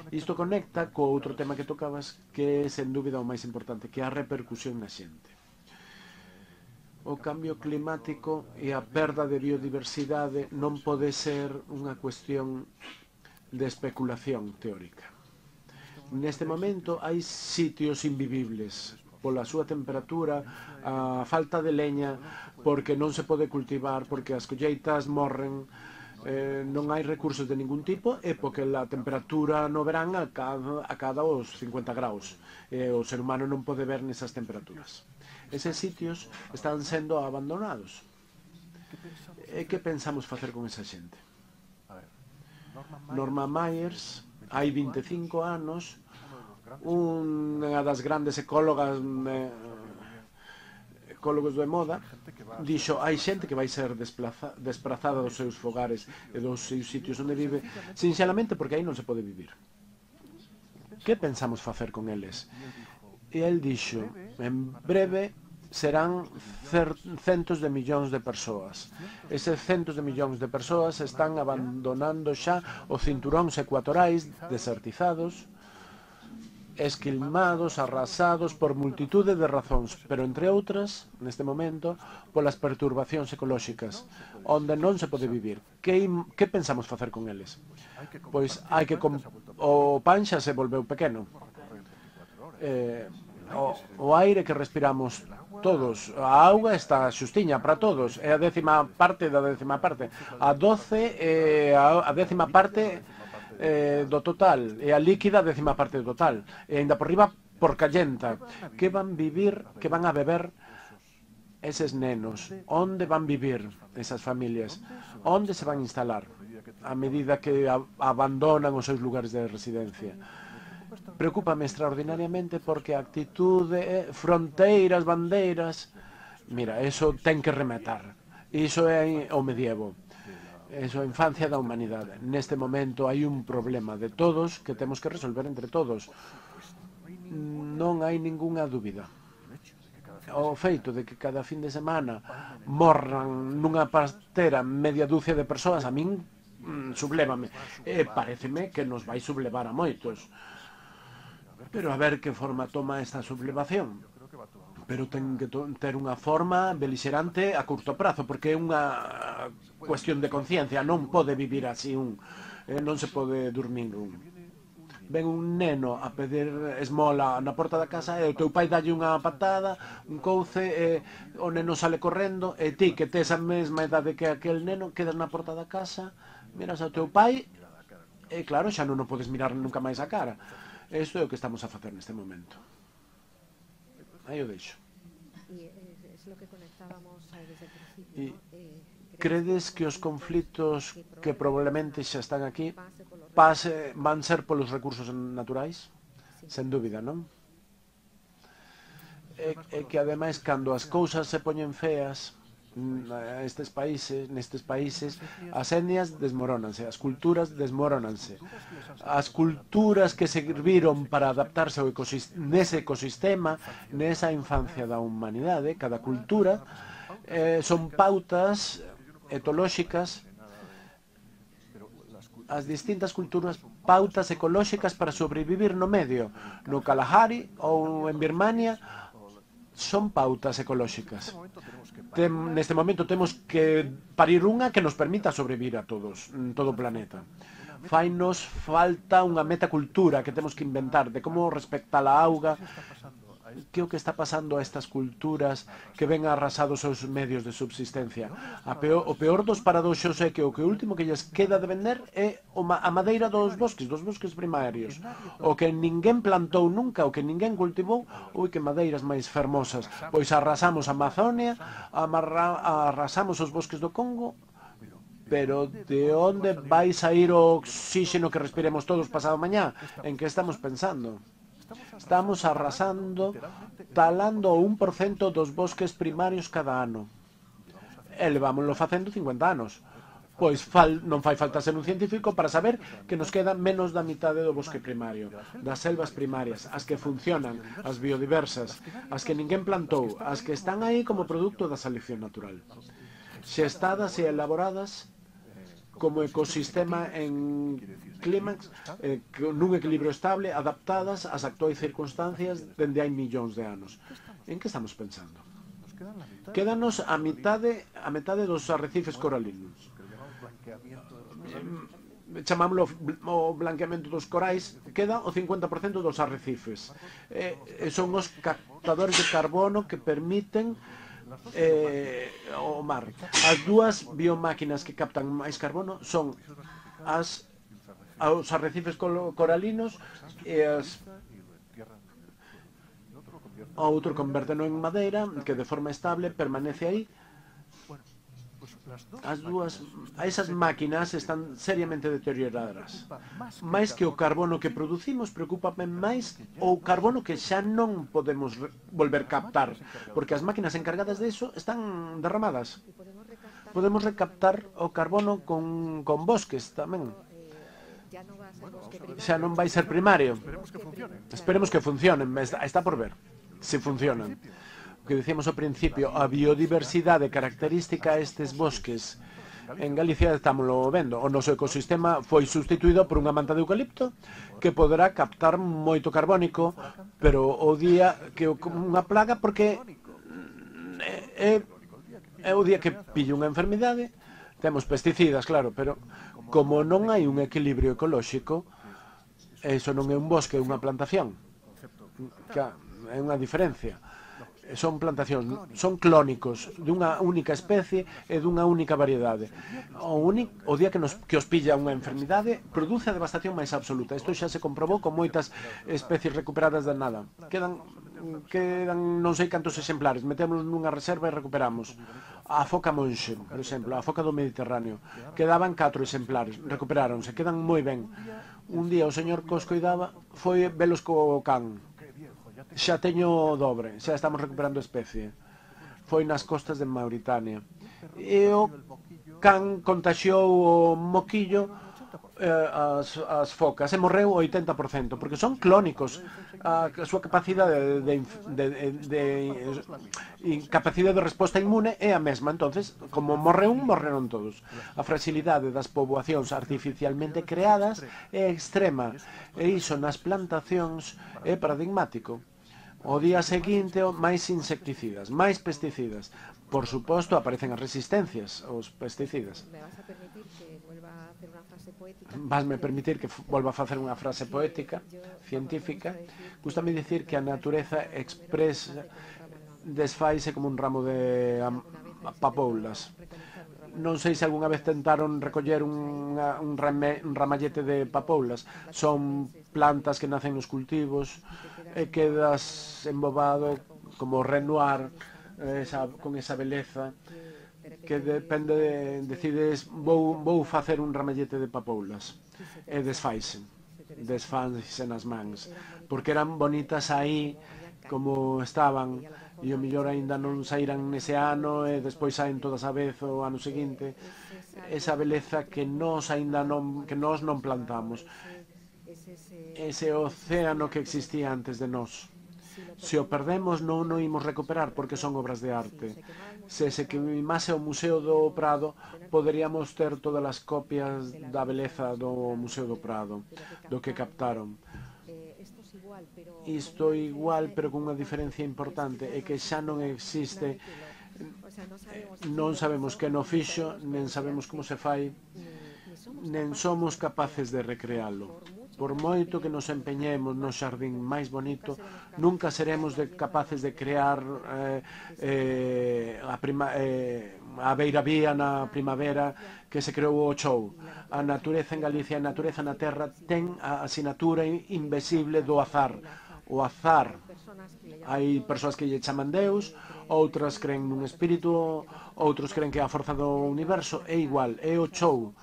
Isto conecta co outro tema que tocabas, que é sen dúbida o máis importante, que é a repercusión na xente. O cambio climático e a perda de biodiversidade non pode ser unha cuestión de especulación teórica. Neste momento hai sitios invivibles pola súa temperatura, a falta de leña, porque non se pode cultivar, porque as colleitas morren, eh, non hai recursos de ningún tipo, e porque a temperatura no verán acada, acada os cincuenta graus. E o ser humano non pode ver nesas temperaturas. Eses sitios están sendo abandonados. E que pensamos facer con esa xente? Norma Myers, hai vinte e cinco anos, unha das grandes ecólogas eh, ecólogos de moda, dixo, hai xente que vai ser desplaza, desplazada dos seus fogares e dos seus sitios onde vive, sinxelamente porque aí non se pode vivir. Que pensamos facer con eles? E el dixo, en breve serán centos de millóns de persoas. Eses centos de millóns de persoas están abandonando xa os cinturóns ecuatorais desertizados, esquilmados, arrasados por multitude de razóns, pero entre outras, neste momento, polas perturbacións ecolóxicas, onde non se pode vivir. Que, que pensamos facer con eles? Pois hai que... O pan xa se volveu pequeno. Eh, o, o aire que respiramos todos, a auga está xustiña para todos, é a décima parte da décima parte, a doce é a, a décima parte eh, do total, e a líquida a décima parte do total, e ainda por riba por callenta. Que van vivir, que van a beber eses nenos? Onde van vivir esas familias? Onde se van instalar a medida que a, abandonan os seus lugares de residencia? Preocúpame extraordinariamente porque a actitude, fronteiras, bandeiras, mira, eso ten que rematar. Iso é o medievo. Eso é a infancia da humanidade. Neste momento hai un problema de todos que temos que resolver entre todos. Non hai ningunha dúbida. O feito de que cada fin de semana morran nunha pastera media dúcia de persoas, a min mm, sublévame. E pareceme que nos vai sublevar a moitos. Pero a ver que forma toma esta sublevación. Pero ten que ter unha forma belixerante a curto prazo, porque é unha cuestión de conciencia. Non pode vivir así un. Eh, non se pode dormir un. Ven un neno a pedir esmola na porta da casa e o teu pai dalle unha patada, un couce, e o neno sale correndo, e ti, que tes a mesma idade que aquel neno, quedas na porta da casa, miras ao teu pai, e claro, xa non o podes mirar nunca máis a cara. Isto é o que estamos a facer neste momento. Aí o deixo. E credes que os conflitos que probablemente xa están aquí pase, van ser polos recursos naturais? Sen dúbida, non? E, e que ademais, cando as cousas se poñen feas nestes países, nestes países, as etnias desmorónanse, as culturas desmorónanse. As culturas que serviron para adaptarse ao ecosistema, nese ecosistema, nesa infancia da humanidade, cada cultura, eh, son pautas etolóxicas, as distintas culturas, pautas ecolóxicas para sobrevivir no medio. No Kalahari ou en Birmania son pautas ecolóxicas. Tem, neste momento temos que parir unha que nos permita sobrevivir a todos, en todo o planeta. Fainos falta unha metacultura que temos que inventar de como respectar a auga, que o que está pasando a estas culturas que ven arrasados os seus medios de subsistencia. A peor, o peor dos paradoxos é que o que último que lles queda de vender é a madeira dos bosques, dos bosques primarios. O que ninguén plantou nunca, o que ninguén cultivou, ui, que madeiras máis fermosas. Pois arrasamos a Amazonia, amarra, arrasamos os bosques do Congo, pero de onde vai sair o oxígeno que respiremos todos pasado mañá? En que estamos pensando? Estamos arrasando, talando o un por cento dos bosques primarios cada ano. E levámoslo facendo cincuenta anos. Pois fal, non fai falta ser un científico para saber que nos queda menos da mitade do bosque primario, das selvas primarias, as que funcionan, as biodiversas, as que ninguén plantou, as que están aí como produto da selección natural. Xestadas e elaboradas como ecosistema en clímax, eh, nun equilibrio estable, adaptadas ás actuais circunstancias dende hai millóns de anos. En que estamos pensando? Quédanos a mitade, a metade dos arrecifes coralinos. Chamámoslo o blanqueamento dos corais, queda o cincuenta por cento dos arrecifes. Eh, son os captadores de carbono que permiten Eh, o mar. As dúas biomáquinas que captan máis carbono son as os arrecifes coralinos e as o outro convérteno en madeira que de forma estable permanece aí. As dúas, esas máquinas están seriamente deterioradas. Mais que o carbono que producimos, preocúpame máis o carbono que xa non podemos volver captar, porque as máquinas encargadas de eso están derramadas. Podemos recaptar o carbono con, con bosques tamén. Xa non vai ser primario. Esperemos que funcionen, está por ver se funcionan. Que decíamos ao principio, a biodiversidade característica a estes bosques. En Galicia estámoslo vendo. O noso ecosistema foi sustituído por unha manta de eucalipto que poderá captar moito carbónico, pero o día que unha plaga, porque é, é o día que pille unha enfermidade, temos pesticidas, claro, pero como non hai un equilibrio ecolóxico, eso non é un bosque, é unha plantación. é unha diferencia. Son plantacións, son clónicos dunha única especie e dunha única variedade. O, único, o día que, nos, que os pilla unha enfermidade, produce a devastación máis absoluta. Isto xa se comprobou con moitas especies recuperadas de nada. Quedan, quedan non sei cantos exemplares, metémonos nunha reserva e recuperamos. A foca monxe, por exemplo, a foca do Mediterráneo, quedaban catro exemplares, recuperáronse, quedan moi ben. Un día o señor que os coidaba foi velos co can. Xa teño o dobre, xa estamos recuperando a especie. Foi nas costas de Mauritania. E o can contaxiou o moquillo eh, as, as focas e morreu o oitenta por cento, porque son clónicos. A, a súa capacidade de, de, de, de, de capacidade de resposta inmune é a mesma. Entonces, como morreu un, morreron todos. A fragilidade das poboacións artificialmente creadas é extrema, e iso nas plantacións é paradigmático. O día seguinte, máis insecticidas, máis pesticidas. Por suposto, aparecen as resistencias aos pesticidas. Vasme permitir que volva a facer unha frase poética, científica. Gústame dicir que a natureza expresa, desfaise como un ramo de papoulas. Non sei se algunha vez tentaron recoller unha, un, rame, un ramallete de papoulas. Son plantas que nacen nos cultivos e quedas embobado como Renoir, esa, con esa beleza que depende de, decides vou, vou facer un ramallete de papoulas e desfaise desfaise nas mans porque eran bonitas aí como estaban e o mellor aínda non saíran nese ano e despois saen todas a vez o ano seguinte. Esa beleza que nós aínda non, que nós non plantamos, ese océano que existía antes de nós. Se o perdemos non o imos recuperar porque son obras de arte. Se se queimase o Museo do Prado, poderíamos ter todas as copias da beleza do Museo do Prado, do que captaron. Isto igual, pero con unha diferencia importante, é que xa non existe, non sabemos que no fixo, nen sabemos como se fai, nen somos capaces de recrealo. Por moito que nos empeñemos no xardín máis bonito, nunca seremos de, capaces de crear eh, eh, a, prima, eh, a beiravía na primavera que se creou o Chou. A natureza en Galicia, a natureza na terra, ten a asinatura invisible do azar. O azar. Hai persoas que lle chaman Deus, outras creen nun espírito, outros creen que é a forza do universo. É igual, é o Chou.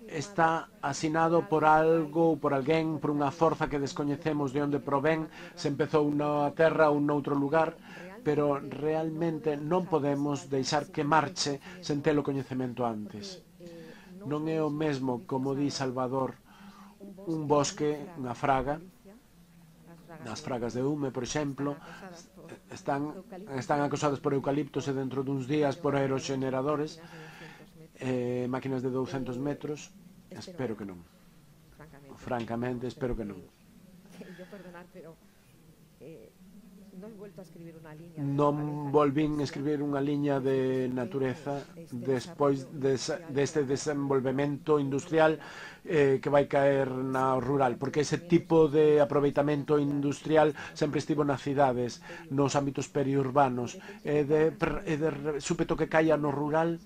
Está asinado por algo ou por alguén, por unha forza que descoñecemos de onde provén, se empezou na terra ou noutro lugar, pero realmente non podemos deixar que marche sen ter o coñecemento antes. Non é o mesmo, como di Salvador, un bosque, unha fraga, as fragas de Hume, por exemplo, están, están acosadas por eucaliptos e dentro duns días por aeroxeneradores, Eh, máquinas de douscentos metros, espero que non. Francamente, espero que non. Non volvín escribir unha liña de natureza despois deste desenvolvemento industrial eh, que vai caer na rural, porque ese tipo de aproveitamento industrial sempre estivo nas cidades, nos ámbitos periurbanos, e de, de súpeto que caia no rural.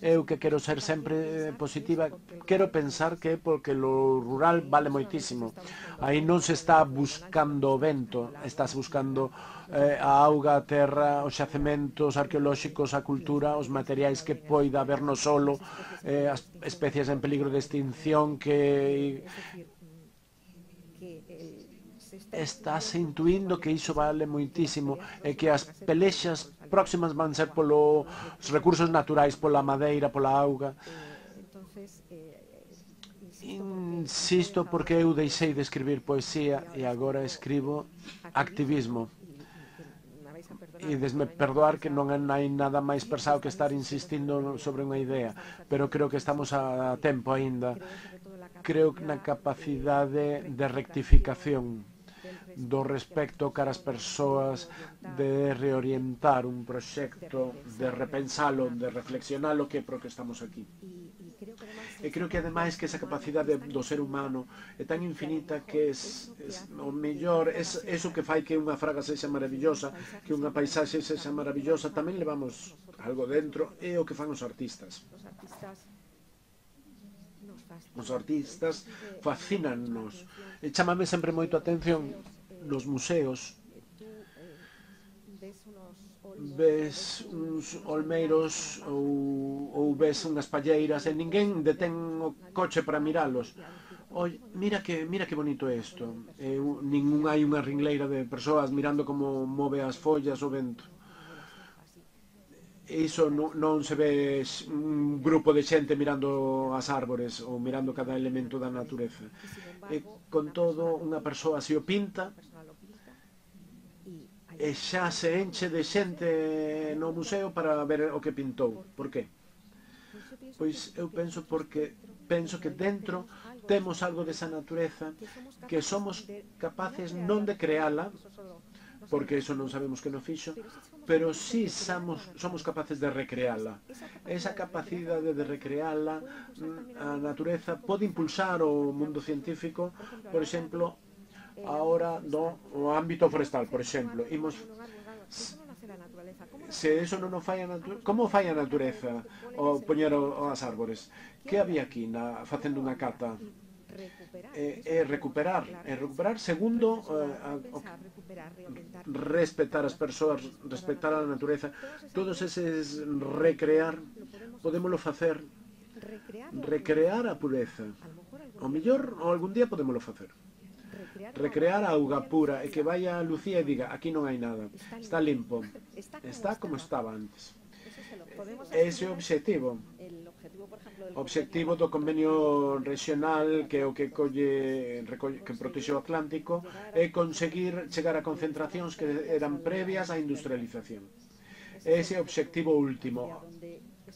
Eu que quero ser sempre positiva, quero pensar que porque lo rural vale moitísimo. Aí non se está buscando o vento, estás buscando eh, a auga, a terra, os xacementos arqueolóxicos, a cultura, os materiais que poida haber no solo, eh, as especies en peligro de extinción que estás intuindo que iso vale moitísimo e que as pelexas próximas van ser polos recursos naturais, pola madeira, pola auga. Insisto porque eu deixei de escribir poesía e agora escribo activismo. E desme perdoar que non hai nada máis pesado que estar insistindo sobre unha idea, pero creo que estamos a tempo aínda. Creo que na capacidade de rectificación do respecto cara as persoas, de reorientar un proxecto, de repensalo, de reflexionalo, que é pro que estamos aquí. E creo que ademais que esa capacidade do ser humano é tan infinita que es, es o mellor, es eso que fai que unha fraga sexa maravillosa, que unha paisaxe sexa maravillosa, tamén levamos algo dentro, é o que fan os artistas. Os artistas fascínannos. E chámame sempre moito a atención nos museos. Ves uns olmeiros ou, ou ves unhas palleiras e ninguén detén o coche para miralos. Oi, mira que mira que bonito é isto. E, ningún hai unha ringleira de persoas mirando como move as follas o vento. E iso non, non se ve un grupo de xente mirando as árbores ou mirando cada elemento da natureza. E con todo, unha persoa se o pinta e xa se enche de xente no museo para ver o que pintou. Por qué? Pois eu penso porque penso que dentro temos algo desa natureza que somos capaces non de creala, porque eso non sabemos que non fixo, pero sí somos, somos capaces de recreala. Esa capacidade de recreala, a natureza pode impulsar o mundo científico, por exemplo, ahora no o ámbito forestal, por exemplo, imos se eso non o fai a natureza, como fai a natureza o poñer as árbores? Que había aquí na, facendo unha cata? É, é recuperar, é recuperar segundo eh, o, respetar as persoas, respetar a natureza, todos eses recrear, podémoslo facer, recrear a pureza. O mellor, ou algún día podémoslo facer. Recrear a auga pura e que vaya a Lucía e diga, aquí non hai nada, está limpo, está como estaba antes. Ese é o obxectivo. O obxectivo do convenio regional, que é o que colle, que protexe o Atlántico, é conseguir chegar a concentracións que eran previas á industrialización. Ese é o obxectivo último.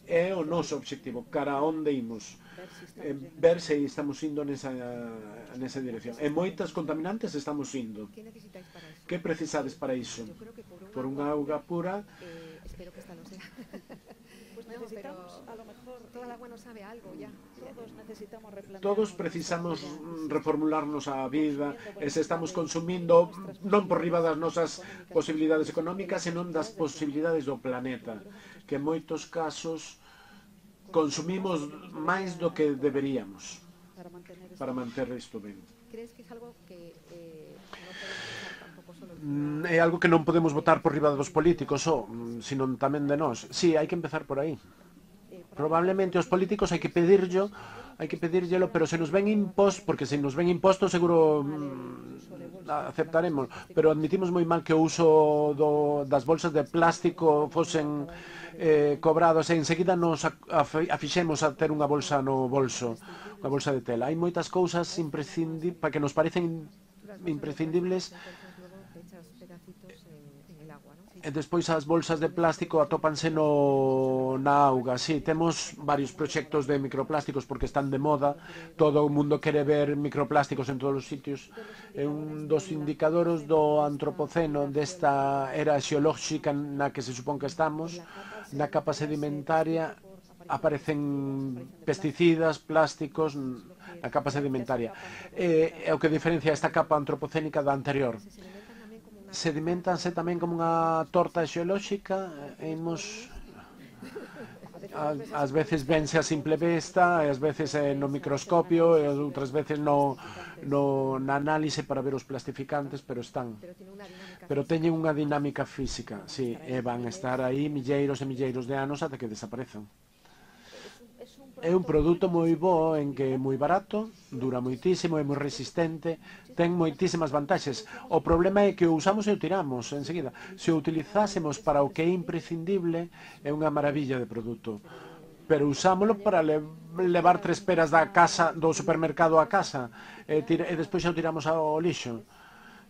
É o noso obxectivo, cara a onde imos. Eh, ver se estamos indo nesa, nesa dirección. E moitas contaminantes estamos indo. Que precisades para iso? Por unha auga pura. Eh, espero que esta lo sea. Pues necesitamos, a lo mejor, toda la agua no sabe algo ya. Todos necesitamos replantearnos. Todos precisamos reformularnos a vida, e se estamos consumindo non por riba das nosas posibilidades económicas, senón das posibilidades do planeta, que en moitos casos consumimos máis do que deberíamos para manter isto ben. Crees que é algo que eh, non podemos usar tampouco solo? É algo que non podemos votar por riba dos políticos, só, sino tamén de nós. Sí, hai que empezar por aí. Probablemente os políticos hai que pedirllo, hai que pedírllelo, pero se nos ven imposto, porque se nos ven imposto seguro mm, aceptaremos, pero admitimos moi mal que o uso do, das bolsas de plástico fosen eh, cobrados e enseguida nos afixemos a ter unha bolsa no bolso, unha bolsa de tela. Hai moitas cousas imprescindibles, para que nos parecen imprescindibles, e despois as bolsas de plástico atópanse no, na auga. Sí, temos varios proxectos de microplásticos porque están de moda, todo o mundo quere ver microplásticos en todos os sitios. É un dos indicadores do antropoceno, desta era xeolóxica na que se supón que estamos, na capa sedimentaria aparecen pesticidas, plásticos na capa sedimentaria. É, é o que diferencia esta capa antropocénica da anterior. Sedimentanse tamén como unha torta xeolóxica, imos ás veces vense a simple vista, e ás veces no microscopio, e outras veces no, no, na análise para ver os plastificantes, pero están. Pero teñen unha dinámica física, sí, e van estar aí milleiros e milleiros de anos ata que desaparezan. É un produto moi bo, en que é moi barato, dura moitísimo, é moi resistente, ten moitísimas vantaxes. O problema é que o usamos e o tiramos enseguida. Se o utilizásemos para o que é imprescindible, é unha maravilla de produto. Pero usámoslo para le levar tres peras da casa, do supermercado a casa, e, e despois xa o tiramos ao lixo.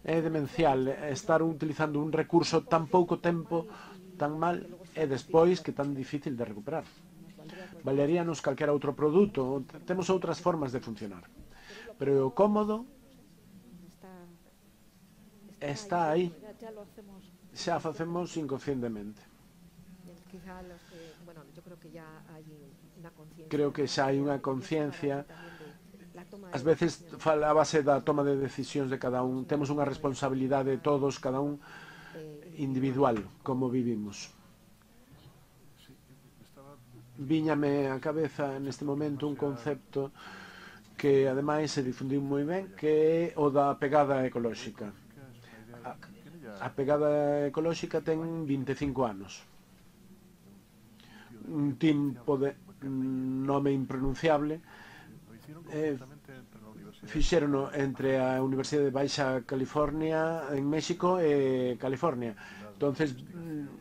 É demencial estar utilizando un recurso tan pouco tempo, tan mal, e despois que tan difícil de recuperar. Valeríanos calquera outro produto, temos outras formas de funcionar. Pero o cómodo está aí, xa facemos inconscientemente. Creo que xa hai unha conciencia. Ás veces falábase da toma de decisións de cada un. Temos unha responsabilidade de todos, cada un individual, como vivimos. Víñame á cabeza neste momento un concepto que ademais se difundiu moi ben, que é o da pegada ecolóxica. A, a pegada ecolóxica ten vinte e cinco anos. Un tempo de nome impronunciable, eh, fixérono entre a Universidade de Baixa California en México e California. Entonces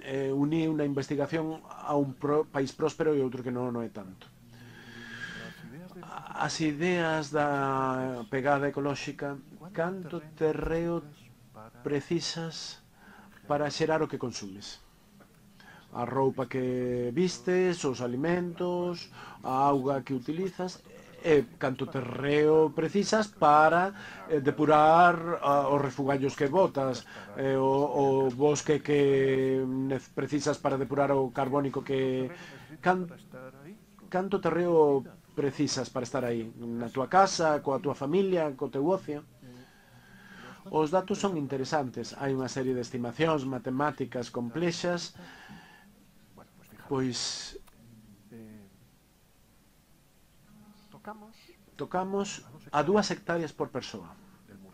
eh, uní unha investigación a un pro, país próspero e outro que non, non é tanto. As ideas da pegada ecolóxica, canto terreo precisas para xerar o que consumes? A roupa que vistes, os alimentos, a auga que utilizas, e canto terreo precisas para eh, depurar uh, os refugallos que botas, eh, o, o bosque que precisas para depurar o carbónico que... Can, canto terreo precisas para estar aí? Na túa casa, coa túa familia, co teu ocio? Os datos son interesantes. Hai unha serie de estimacións matemáticas complexas. Pois tocamos a dúas hectáreas por persoa,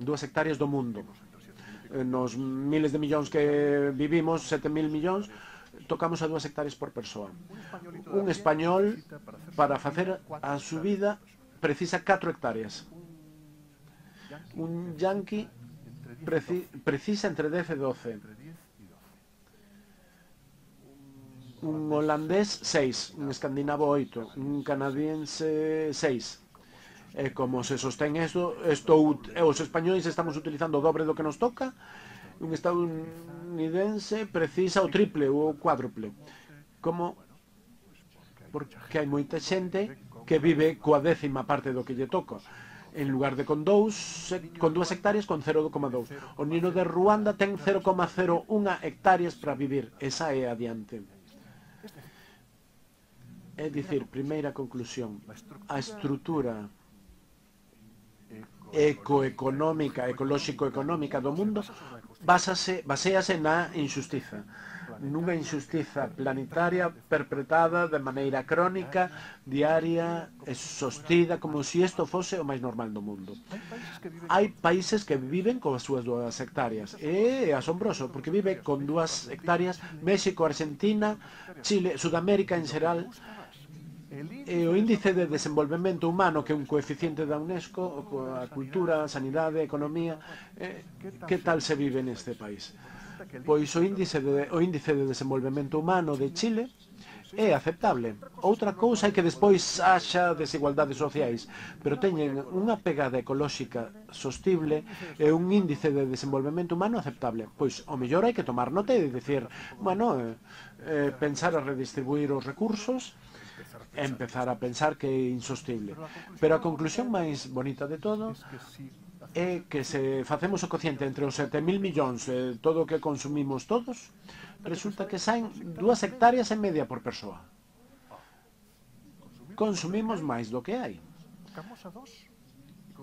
dúas hectáreas do mundo. Nos miles de millóns que vivimos, sete mil millóns, tocamos a dúas hectáreas por persoa. Un español, para facer a subida, precisa catro hectáreas. Un yanqui preci precisa entre dez e doce. Un holandés, seis. Un escandinavo, oito. Un canadiense, seis. E como se sostén isto, estou, os españois estamos utilizando o dobre do que nos toca. Un estadounidense precisa o triple ou o cuádruple. Como? Porque hai moita xente que vive coa décima parte do que lle toca. En lugar de con dous, con dúas hectáreas, con cero coma dous. O nino de Ruanda ten cero coma cero un hectáreas para vivir. Esa é adiante. É dicir, primeira conclusión, a estrutura ecoeconómica, ecolóxico-económica do mundo basase, baséase na injustiza. Nunha injustiza planetaria perpetrada de maneira crónica, diaria e sostida, como se isto fose o máis normal do mundo. Hai países que viven con as súas dúas hectáreas. É asombroso, porque vive con dúas hectáreas México, Argentina, Chile, Sudamérica en xeral. E o índice de desenvolvemento humano, que é un coeficiente da UNESCO, a cultura, a sanidade, a economía, eh, que tal se vive neste país? Pois o índice de, o índice de desenvolvemento humano de Chile é aceptable. Outra cousa é que despois haxa desigualdades sociais, pero teñen unha pegada ecolóxica sostible e un índice de desenvolvemento humano aceptable. Pois o mellor hai que tomar nota e dicir, bueno, eh, eh, pensar a redistribuir os recursos, empezar a pensar que é insostible. Pero a conclusión máis bonita de todo é que se facemos o cociente entre os sete mil millóns e todo o que consumimos todos, resulta que saen dúas hectáreas e media por persoa. Consumimos máis do que hai.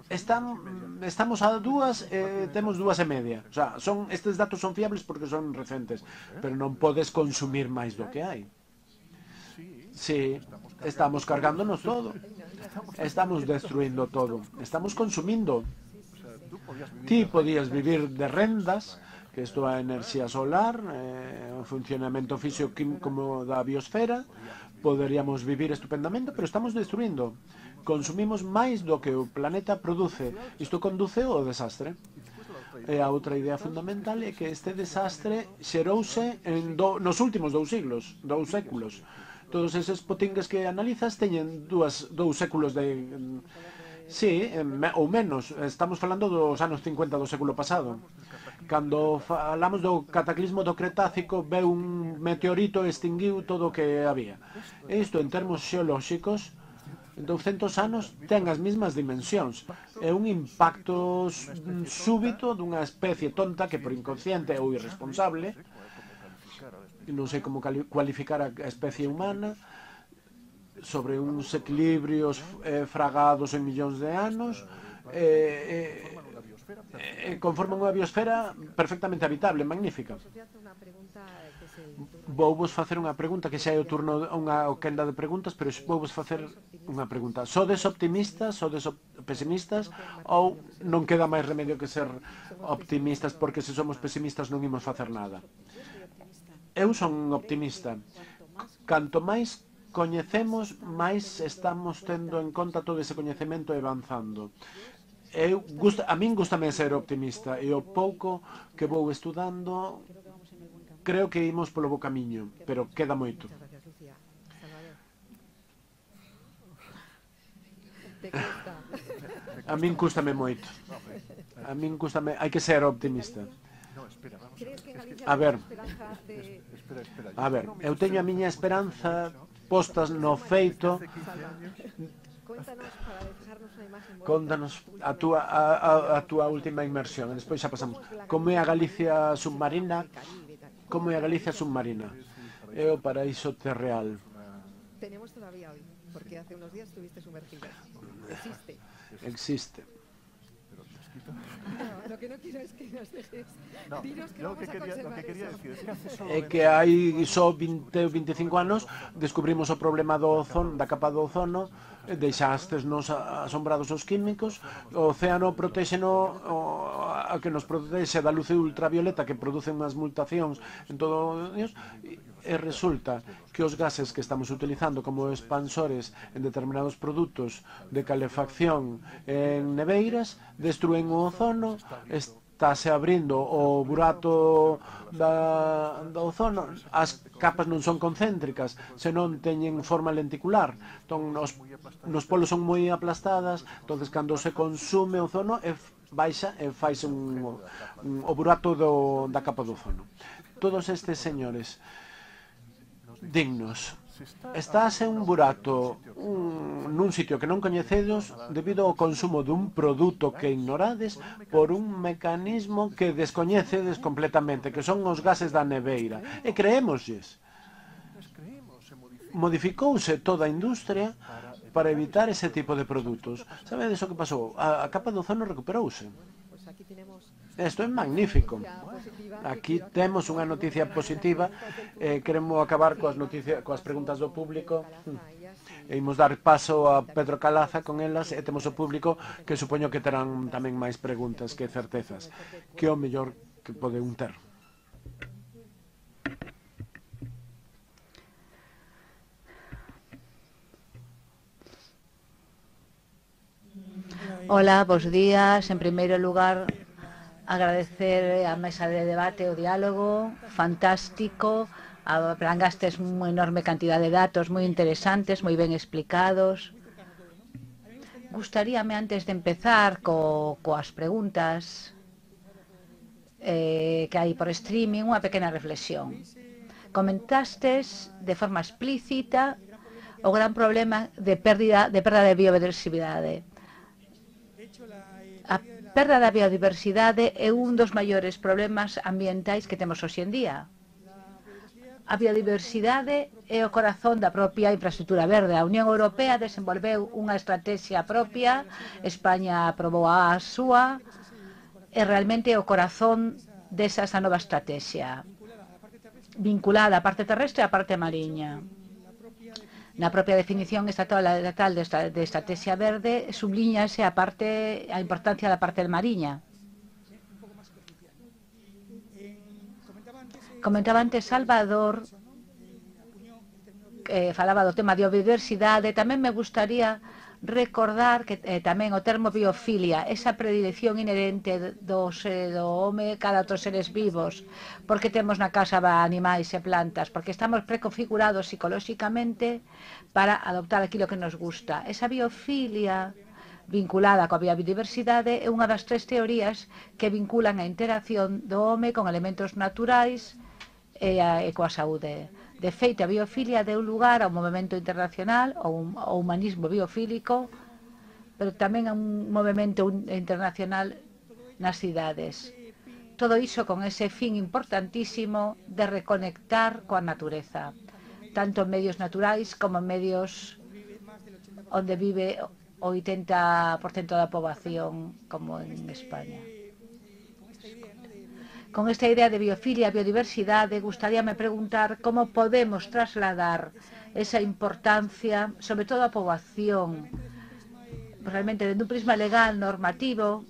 Están, estamos a dúas e temos dúas e media. O sea, son, estes datos son fiables porque son recentes, pero non podes consumir máis do que hai. Sí, estamos cargándonos todo. Estamos destruindo todo. Estamos consumindo. Ti podías vivir de rendas, que isto é a enerxía solar, eh, o funcionamento físico como da biosfera. Poderíamos vivir estupendamente, pero estamos destruindo. Consumimos máis do que o planeta produce. Isto conduce ao desastre. E a outra idea fundamental é que este desastre xerouse en do, nos últimos dous siglos, dous séculos. Todos eses potingues que analizas teñen dúas, dous séculos de... Sí, ou menos. Estamos falando dos anos cincuenta do século pasado. Cando falamos do cataclismo do Cretácico, veu un meteorito e extinguiu todo o que había. Isto, en termos xeolóxicos, en douscentos anos ten as mesmas dimensións. É un impacto súbito dunha especie tonta que por inconsciente ou irresponsable non sei como cualificar a especie humana, sobre uns equilibrios eh, fragados en millóns de anos, eh, eh, conforman unha biosfera perfectamente habitable, magnífica. Vou vos facer unha pregunta que xa é o turno, unha quenda de preguntas, pero vou vos facer unha pregunta. Sodes optimistas, sodes pesimistas, ou non queda máis remedio que ser optimistas, porque se somos pesimistas non imos facer nada? Eu son optimista. Canto máis coñecemos, máis estamos tendo en conta todo ese coñecemento e avanzando. Eu, gusta, a min gustame ser optimista, e o pouco que vou estudando creo que imos polo bo camiño, pero queda moito. A min cústame moito. A min cústame, hai que ser optimista. A ver, a ver, eu teño a miña esperanza postas no feito. Contanos a túa, a, a, a túa última inmersión, e despois xa pasamos. Como é a Galicia submarina? Como é a Galicia submarina? É o paraíso terreal. Tenemos todavía hoy, porque hace unos días estuviste sumergida. Existe. Existe. No, lo que no quiero es que nos dejes. No, Dinos que lo vamos que a quería, lo conservar que quería eso. decir es que hace solo É que hai só vinte ou veinticinco anos descubrimos o problema do ozono, da capa do ozono, deixastes nos asombrados os químicos, o océano protéxeno, a que nos protexe da luz ultravioleta que producen unhas mutacións en todo Dios, e resulta que os gases que estamos utilizando como expansores en determinados produtos de calefacción en neveiras destruen o ozono, estáse abrindo o burato da, do ozono, as capas non son concéntricas, senón teñen forma lenticular, entón os, nos polos son moi aplastadas, entonces cando se consume o ozono e baixa e faise un, un, o burato do, da capa do ozono. Todos estes señores dignos. Estáse un burato un, nun sitio que non coñecedos debido ao consumo dun produto que ignorades por un mecanismo que descoñecedes completamente, que son os gases da neveira. E creémoslles. Modificouse toda a industria para evitar ese tipo de produtos. Sabedes o que pasou? A, a capa do ozono recuperouse. Isto é magnífico. Aquí temos unha noticia positiva. Eh, queremos acabar coas, noticias, coas preguntas do público. E imos dar paso a Pedro Calaza con elas, e temos o público que supoño que terán tamén máis preguntas que certezas. Que é o mellor que pode un ter? Hola, bos días. En primeiro lugar, agradecer a mesa de debate, o diálogo, fantástico, aplangastes unha enorme cantidad de datos moi interesantes, moi ben explicados. Gustaríame, antes de empezar co, coas preguntas eh, que hai por streaming, unha pequena reflexión. Comentastes de forma explícita o gran problema de pérdida de, perda de biodiversidade. A perda da biodiversidade é un dos maiores problemas ambientais que temos hoxe en día. A biodiversidade é o corazón da propia infraestructura verde. A Unión Europea desenvolveu unha estrategia propia, España aprobou a súa, e realmente é o corazón desa esa nova estrategia, vinculada á parte terrestre e á parte mariña. Na propia definición estatal de estrategia verde sublíñase a parte a importancia da parte mariña. Comentaba antes Salvador, que falaba do tema de biodiversidade. Tamén me gustaría recordar que eh, tamén o termo biofilia, esa predilección inherente do, do home cada outros seres vivos, porque temos na casa animais e plantas, porque estamos preconfigurados psicolóxicamente para adoptar aquilo que nos gusta. Esa biofilia vinculada coa biodiversidade é unha das tres teorías que vinculan a interacción do home con elementos naturais e, a, e coa saúde. De feito, a biofilia deu lugar ao movimento internacional, ao, ao humanismo biofílico, pero tamén a un movimento internacional nas cidades. todo iso con ese fin importantísimo de reconectar coa natureza, tanto en medios naturais como en medios onde vive o oitenta por cento da poboación, como en España. Con esta idea de biofilia e biodiversidade, gustaríame preguntar como podemos trasladar esa importancia, sobre todo a poboación, realmente dentro un prisma legal, normativo.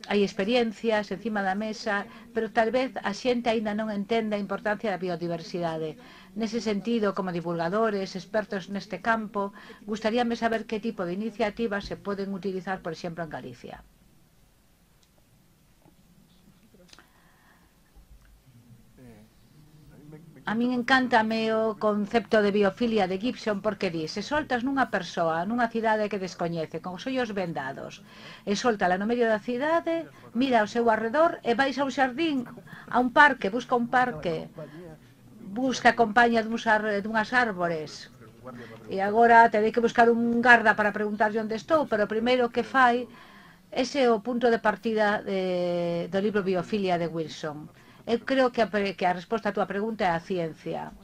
Hai experiencias encima da mesa, pero tal vez a xente aínda non entende a importancia da biodiversidade. Nese sentido, como divulgadores, expertos neste campo, gustaríame saber que tipo de iniciativas se poden utilizar, por exemplo, en Galicia. A min encántame o concepto de biofilia de Gibson porque di, se soltas nunha persoa, nunha cidade que descoñece, con os ollos vendados, e soltala no medio da cidade, mira ao seu arredor e vais a un xardín, a un parque, busca un parque, busca a compañía dunhas árbores, e agora terei que buscar un garda para preguntarlle onde estou, pero o primeiro que fai, ese é o punto de partida de, do libro Biofilia de Wilson. Eu creo que a, que a resposta a túa pregunta é a ciencia.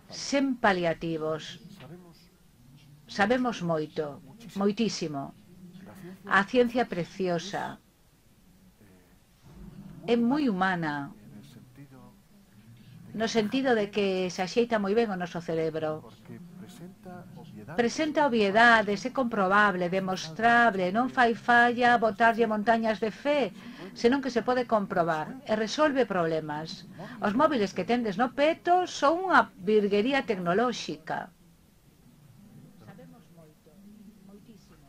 Sen paliativos. Sabemos moito, moitísimo. A ciencia preciosa. É moi humana. No sentido de que se axeita moi ben o noso cerebro. Presenta obviedades, é comprobable, demostrable, non fai falla botarlle montañas de fe, senón que se pode comprobar e resolve problemas. Os móviles que tendes no peto son unha virguería tecnolóxica. Sabemos moito, moitísimo.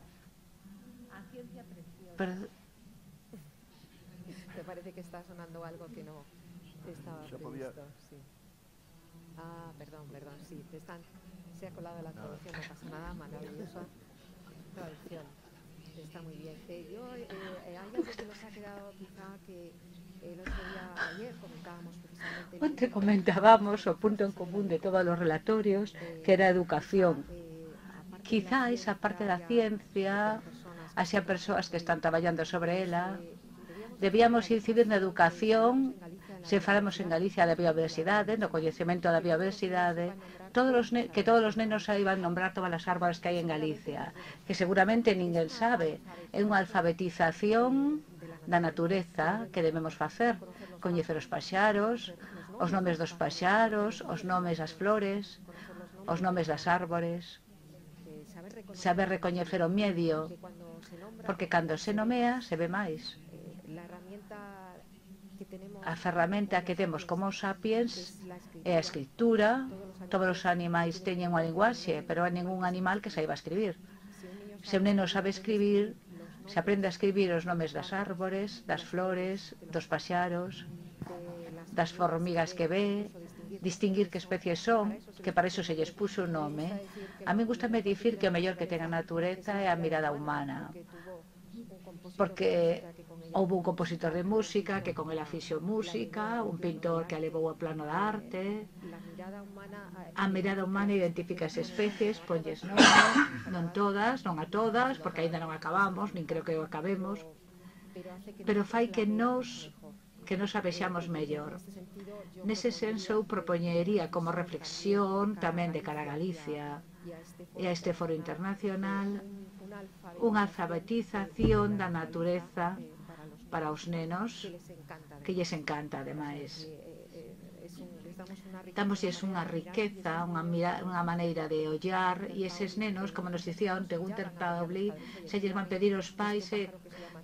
A ciencia preciosa. Te parece que está sonando algo que no estaba previsto, sí. Ah, perdón, perdón, sí, te están... Se ha colado la traducción, no pasa nada, maravillosa traducción. Está muy bien. Eh, yo, eh, eh, hay algo que nos ha quedado quizá que el otro día, ayer comentábamos precisamente... Onte comentábamos o punto en común de todos los relatorios, que era educación. Quizá esa parte da ciencia, hacia persoas que están traballando sobre ela, debíamos incidir na educación, se falamos en Galicia da biodiversidade, no coñecemento da biodiversidade, todos os que todos os nenos saiban nombrar todas as árbores que hai en Galicia, que seguramente ninguén sabe. É unha alfabetización da natureza que debemos facer, coñecer os paxaros, os nomes dos paxaros, os nomes das flores, os nomes das árbores, saber recoñecer o medio, porque cando se nomea se ve máis. A ferramenta que temos como sapiens é a escritura. Todos os animais teñen unha linguaxe, pero hai ningún animal que saiba escribir. Se un neno sabe escribir, se aprende a escribir os nomes das árbores, das flores, dos paxaros, das formigas que ve, distinguir que especies son, que para iso se lles puxo un nome. A mí gustame dicir que o mellor que ten a natureza é a mirada humana, porque houve un compositor de música que con ela fixo música, un pintor que a levou ao plano da arte. A mirada humana identifica as especies, ponlles nome, non todas, non a todas, porque aínda non acabamos, nin creo que o acabemos, pero fai que nos que nos a vexamos mellor. Nese senso, eu propoñería como reflexión tamén de cara a Galicia e a este foro internacional unha alfabetización da natureza para os nenos, que lles encanta, ademais. Damosles unha riqueza, unha, unha maneira de ollar, e eses nenos, como nos dicía onte Gunter Pauli, se lles van pedir os pais, eh,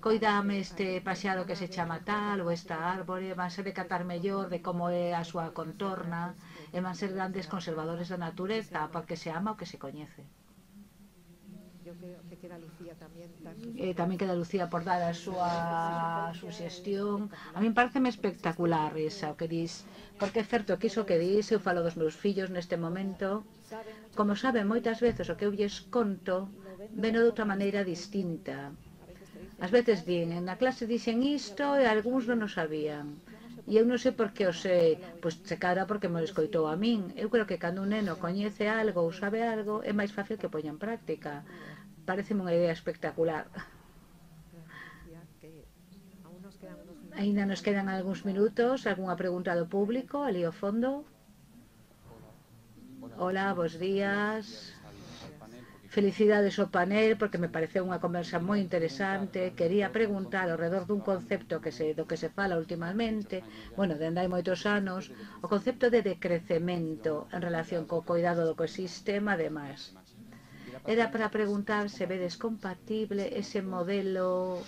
coidame este paxaro que se chama tal, ou esta árbore, van ser de catar mellor de como é a súa contorna, e van ser grandes conservadores da natureza, porque se ama o que se coñece. Eh, tamén queda Lucía por dar a súa suxestión. A min pareceme espectacular esa, o que dis, porque é certo que iso que dis, eu falo dos meus fillos neste momento, como saben moitas veces o que eu lles conto, veno de outra maneira distinta. Ás veces din, na clase dixen isto e algúns non o sabían. E eu non sei por que o sei, pois se cara porque me escoitou a min. Eu creo que cando un neno coñece algo ou sabe algo, é máis fácil que poña en práctica. Pareceme unha idea espectacular. Ainda nos quedan algúns minutos. Algunha pregunta do público? Ali ao fondo. Hola, bons días. Felicidades ao panel, porque me pareceu unha conversa moi interesante. Quería preguntar ao redor dun concepto que se, do que se fala últimamente, bueno, dende hai moitos anos, o concepto de decrecemento en relación co cuidado do ecosistema, ademais. Era para preguntar se vedes compatible ese modelo,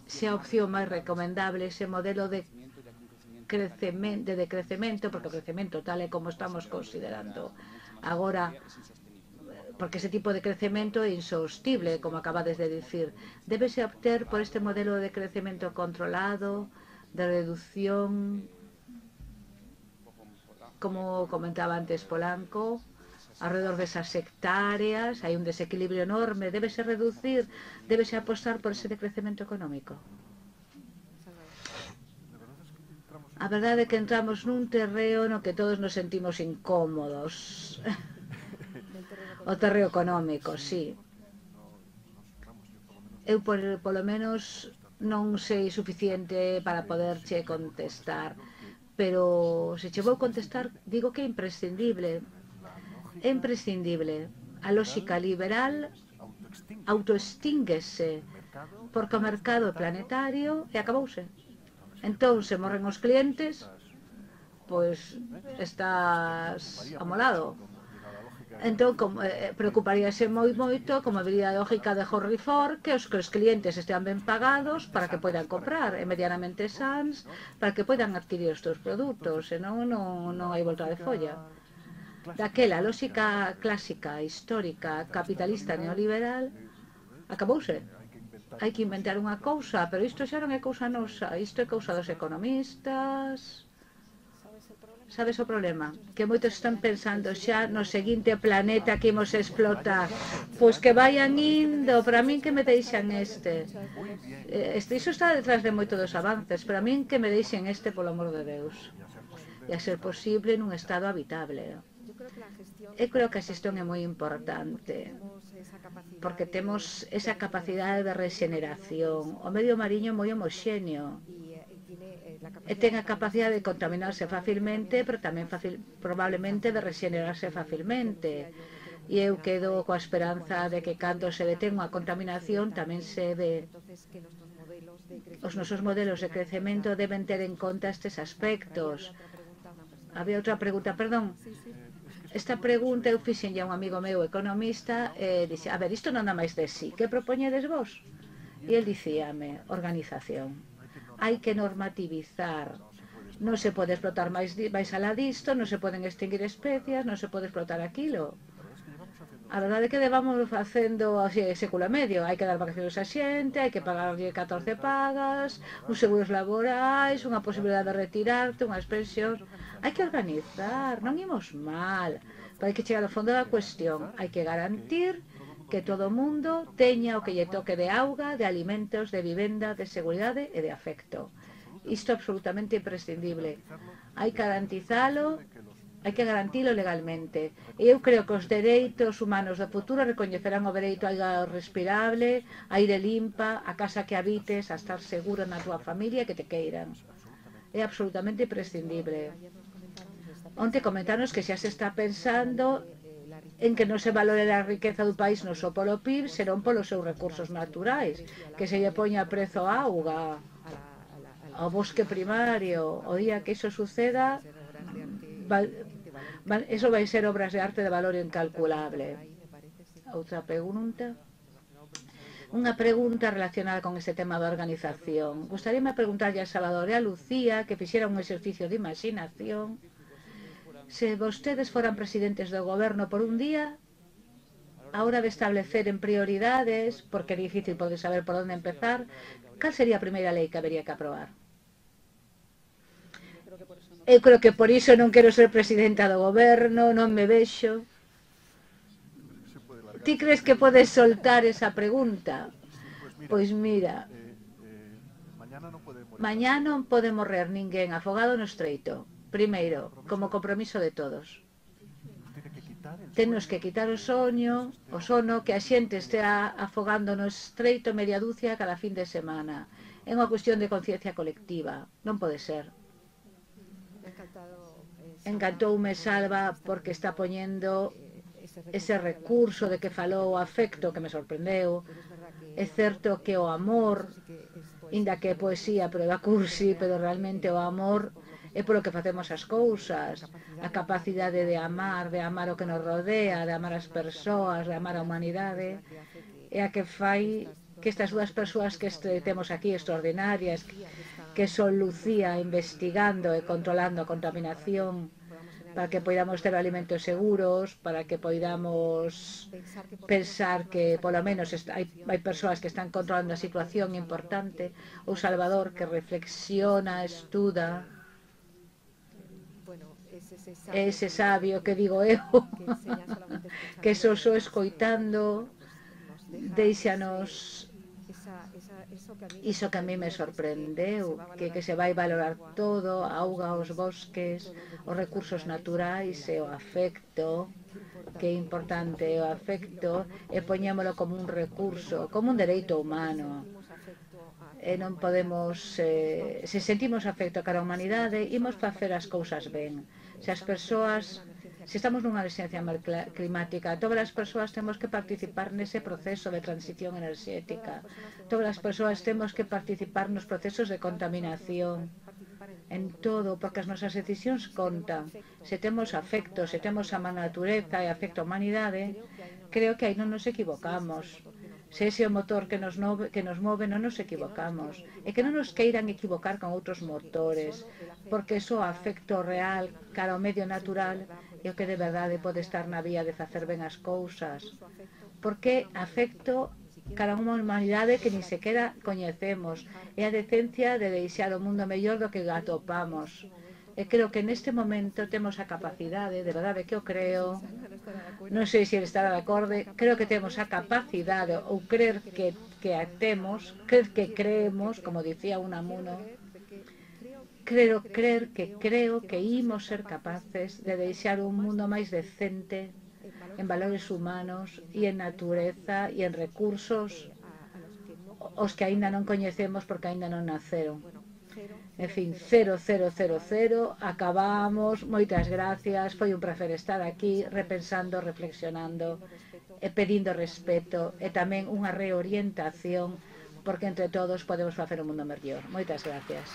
se a opción máis recomendable, ese modelo de crecemento, de decrecemento, porque o crecemento tal e como estamos considerando agora, porque ese tipo de crecemento é insostible, como acabades de dicir. Débese obter por este modelo de crecemento controlado, de reducción, como comentaba antes Polanco, alrededor desas hectáreas, hai un desequilibrio enorme, débese reducir, débese apostar por ese decrecemento económico. A verdade é que entramos nun terreo no que todos nos sentimos incómodos. O terreo económico, sí. Eu, por, polo menos, non sei suficiente para poderche contestar, pero se che vou contestar, digo que é imprescindible. É imprescindible. A lógica liberal autoextínguese porque o mercado planetario e acabouse. Entón, se morren os clientes, pois estás amolado. Entón, como, eh, preocuparíase moi moito, como diría a lógica de Henry Ford, que os, que os clientes estean ben pagados para que poidan comprar, e medianamente sans, para que poidan adquirir os teus produtos, senón non, non hai volta de folla. Daquela lógica clásica, histórica, capitalista, neoliberal, acabouse. Hai que inventar unha cousa, pero isto xa non é cousa nosa, isto é cousa dos economistas. Sabes o problema? Que moitos están pensando xa no seguinte planeta que imos explotar. Pois que vayan indo, para min que me deixan este. este. Iso está detrás de moito dos avances, para min que me deixen este, polo amor de Deus. E a ser posible nun estado habitable. Eu creo que a xestión é moi importante, porque temos esa capacidade de regeneración. O medio mariño é moi homoxéneo e ten a capacidade de contaminarse facilmente, pero tamén facil, probablemente de regenerarse facilmente. E eu quedo coa esperanza de que cando se detén unha contaminación tamén se ve. Os nosos modelos de crecemento deben ter en conta estes aspectos. Había outra pregunta, perdón. Esta pregunta eu fixen a un amigo meu economista e dixe, a ver, isto non dá máis de sí, que propoñedes vos? E el dicíame, organización. Hai que normativizar. Non se pode explotar máis, máis alá disto, non se poden extinguir especies, non se pode explotar aquilo. A verdade é que levamos facendo así, século e medio. Hai que dar vacaciones a xente, hai que pagarlle catorce pagas, uns seguros laborais, unha posibilidade de retirarte, unha expensión. Hai que organizar, non imos mal, pero hai que chegar ao fondo da cuestión. Hai que garantir que todo o mundo teña o que lle toque de auga, de alimentos, de vivenda, de seguridade e de afecto. Isto é absolutamente imprescindible. Hai que garantizalo, hai que garantilo legalmente. E eu creo que os dereitos humanos do futuro recoñecerán o dereito a auga respirable, a aire limpa, a casa que habites, a estar seguro na tua familia e que te queiran. É absolutamente imprescindible. Onte comentanos que xa se está pensando en que non se valore a riqueza do país non só polo P I B, senón polos seus recursos naturais, que se lle poña prezo á auga, ao bosque primario. O día que iso suceda, eso vai ser obras de arte de valor incalculable. Outra pregunta. Unha pregunta relacionada con este tema da organización. Gustaríame preguntarlle a Salvador e a Lucía que fixera un exercicio de imaginación. Se vostedes foran presidentes do goberno por un día, a hora de establecer en prioridades, porque é difícil poder saber por onde empezar, cal sería a primeira lei que habería que aprobar? Eu creo que por iso non quero ser presidenta do goberno, non me vexo. Ti crees que podes soltar esa pregunta? Pois mira, mañá non pode morrer ninguén afogado no estreito. Primeiro, como compromiso de todos. Tennos que quitar o soño, o sono que a xente estea afogando no estreito media dúcia cada fin de semana. é unha cuestión de conciencia colectiva. Non pode ser. Encantoume Salva porque está poñendo ese recurso de que falou o afecto que me sorprendeu. É certo que o amor, inda que é poesía, pero da cursi, pero realmente o amor é polo que facemos as cousas, a capacidade de amar, de amar o que nos rodea, de amar as persoas, de amar a humanidade, é a que fai que estas dúas persoas que temos aquí extraordinarias, que son Lucía investigando e controlando a contaminación, para que podamos ter alimentos seguros, para que podamos pensar que polo menos hai, hai persoas que están controlando a situación importante, ou Salvador que reflexiona, estuda, ese sabio que digo eu, que só só escoitando deixanos iso que a mí me sorprendeu, que, que se vai valorar todo, a auga, os bosques, os recursos naturais e o afecto, que é importante o afecto, e poñémolo como un recurso, como un dereito humano. E non podemos, eh, se sentimos afecto cara a humanidade, imos facer as cousas ben. Se as persoas, se estamos nunha emerxencia climática, todas as persoas temos que participar nese proceso de transición enerxética. Todas as persoas temos que participar nos procesos de contaminación, en todo, porque as nosas decisións contan. Se temos afecto, se temos a natureza e afecto a humanidade, creo que aí non nos equivocamos. Se ese é o motor que nos, move, que nos move, non nos equivocamos. E que non nos queiran equivocar con outros motores, porque iso afecto real cara ao medio natural é o que de verdade pode estar na vía de facer ben as cousas. Porque afecto cara a unha humanidade que ni sequera coñecemos. É a decencia de deixar o mundo mellor do que atopamos. E creo que neste momento temos a capacidade, de verdade que eu creo, non sei se ele estará de acordo, creo que temos a capacidade, ou creer que, que a temos, creer que creemos, como dicía Unamuno, creo, creer que creo que imos ser capaces de deixar un mundo máis decente en valores humanos e en natureza e en recursos os que aínda non coñecemos porque aínda non naceron. En fin, cero, cero, cero, cero, acabamos, moitas gracias, foi un placer estar aquí repensando, reflexionando e pedindo respeto e tamén unha reorientación porque entre todos podemos facer un mundo mellor. Moitas gracias.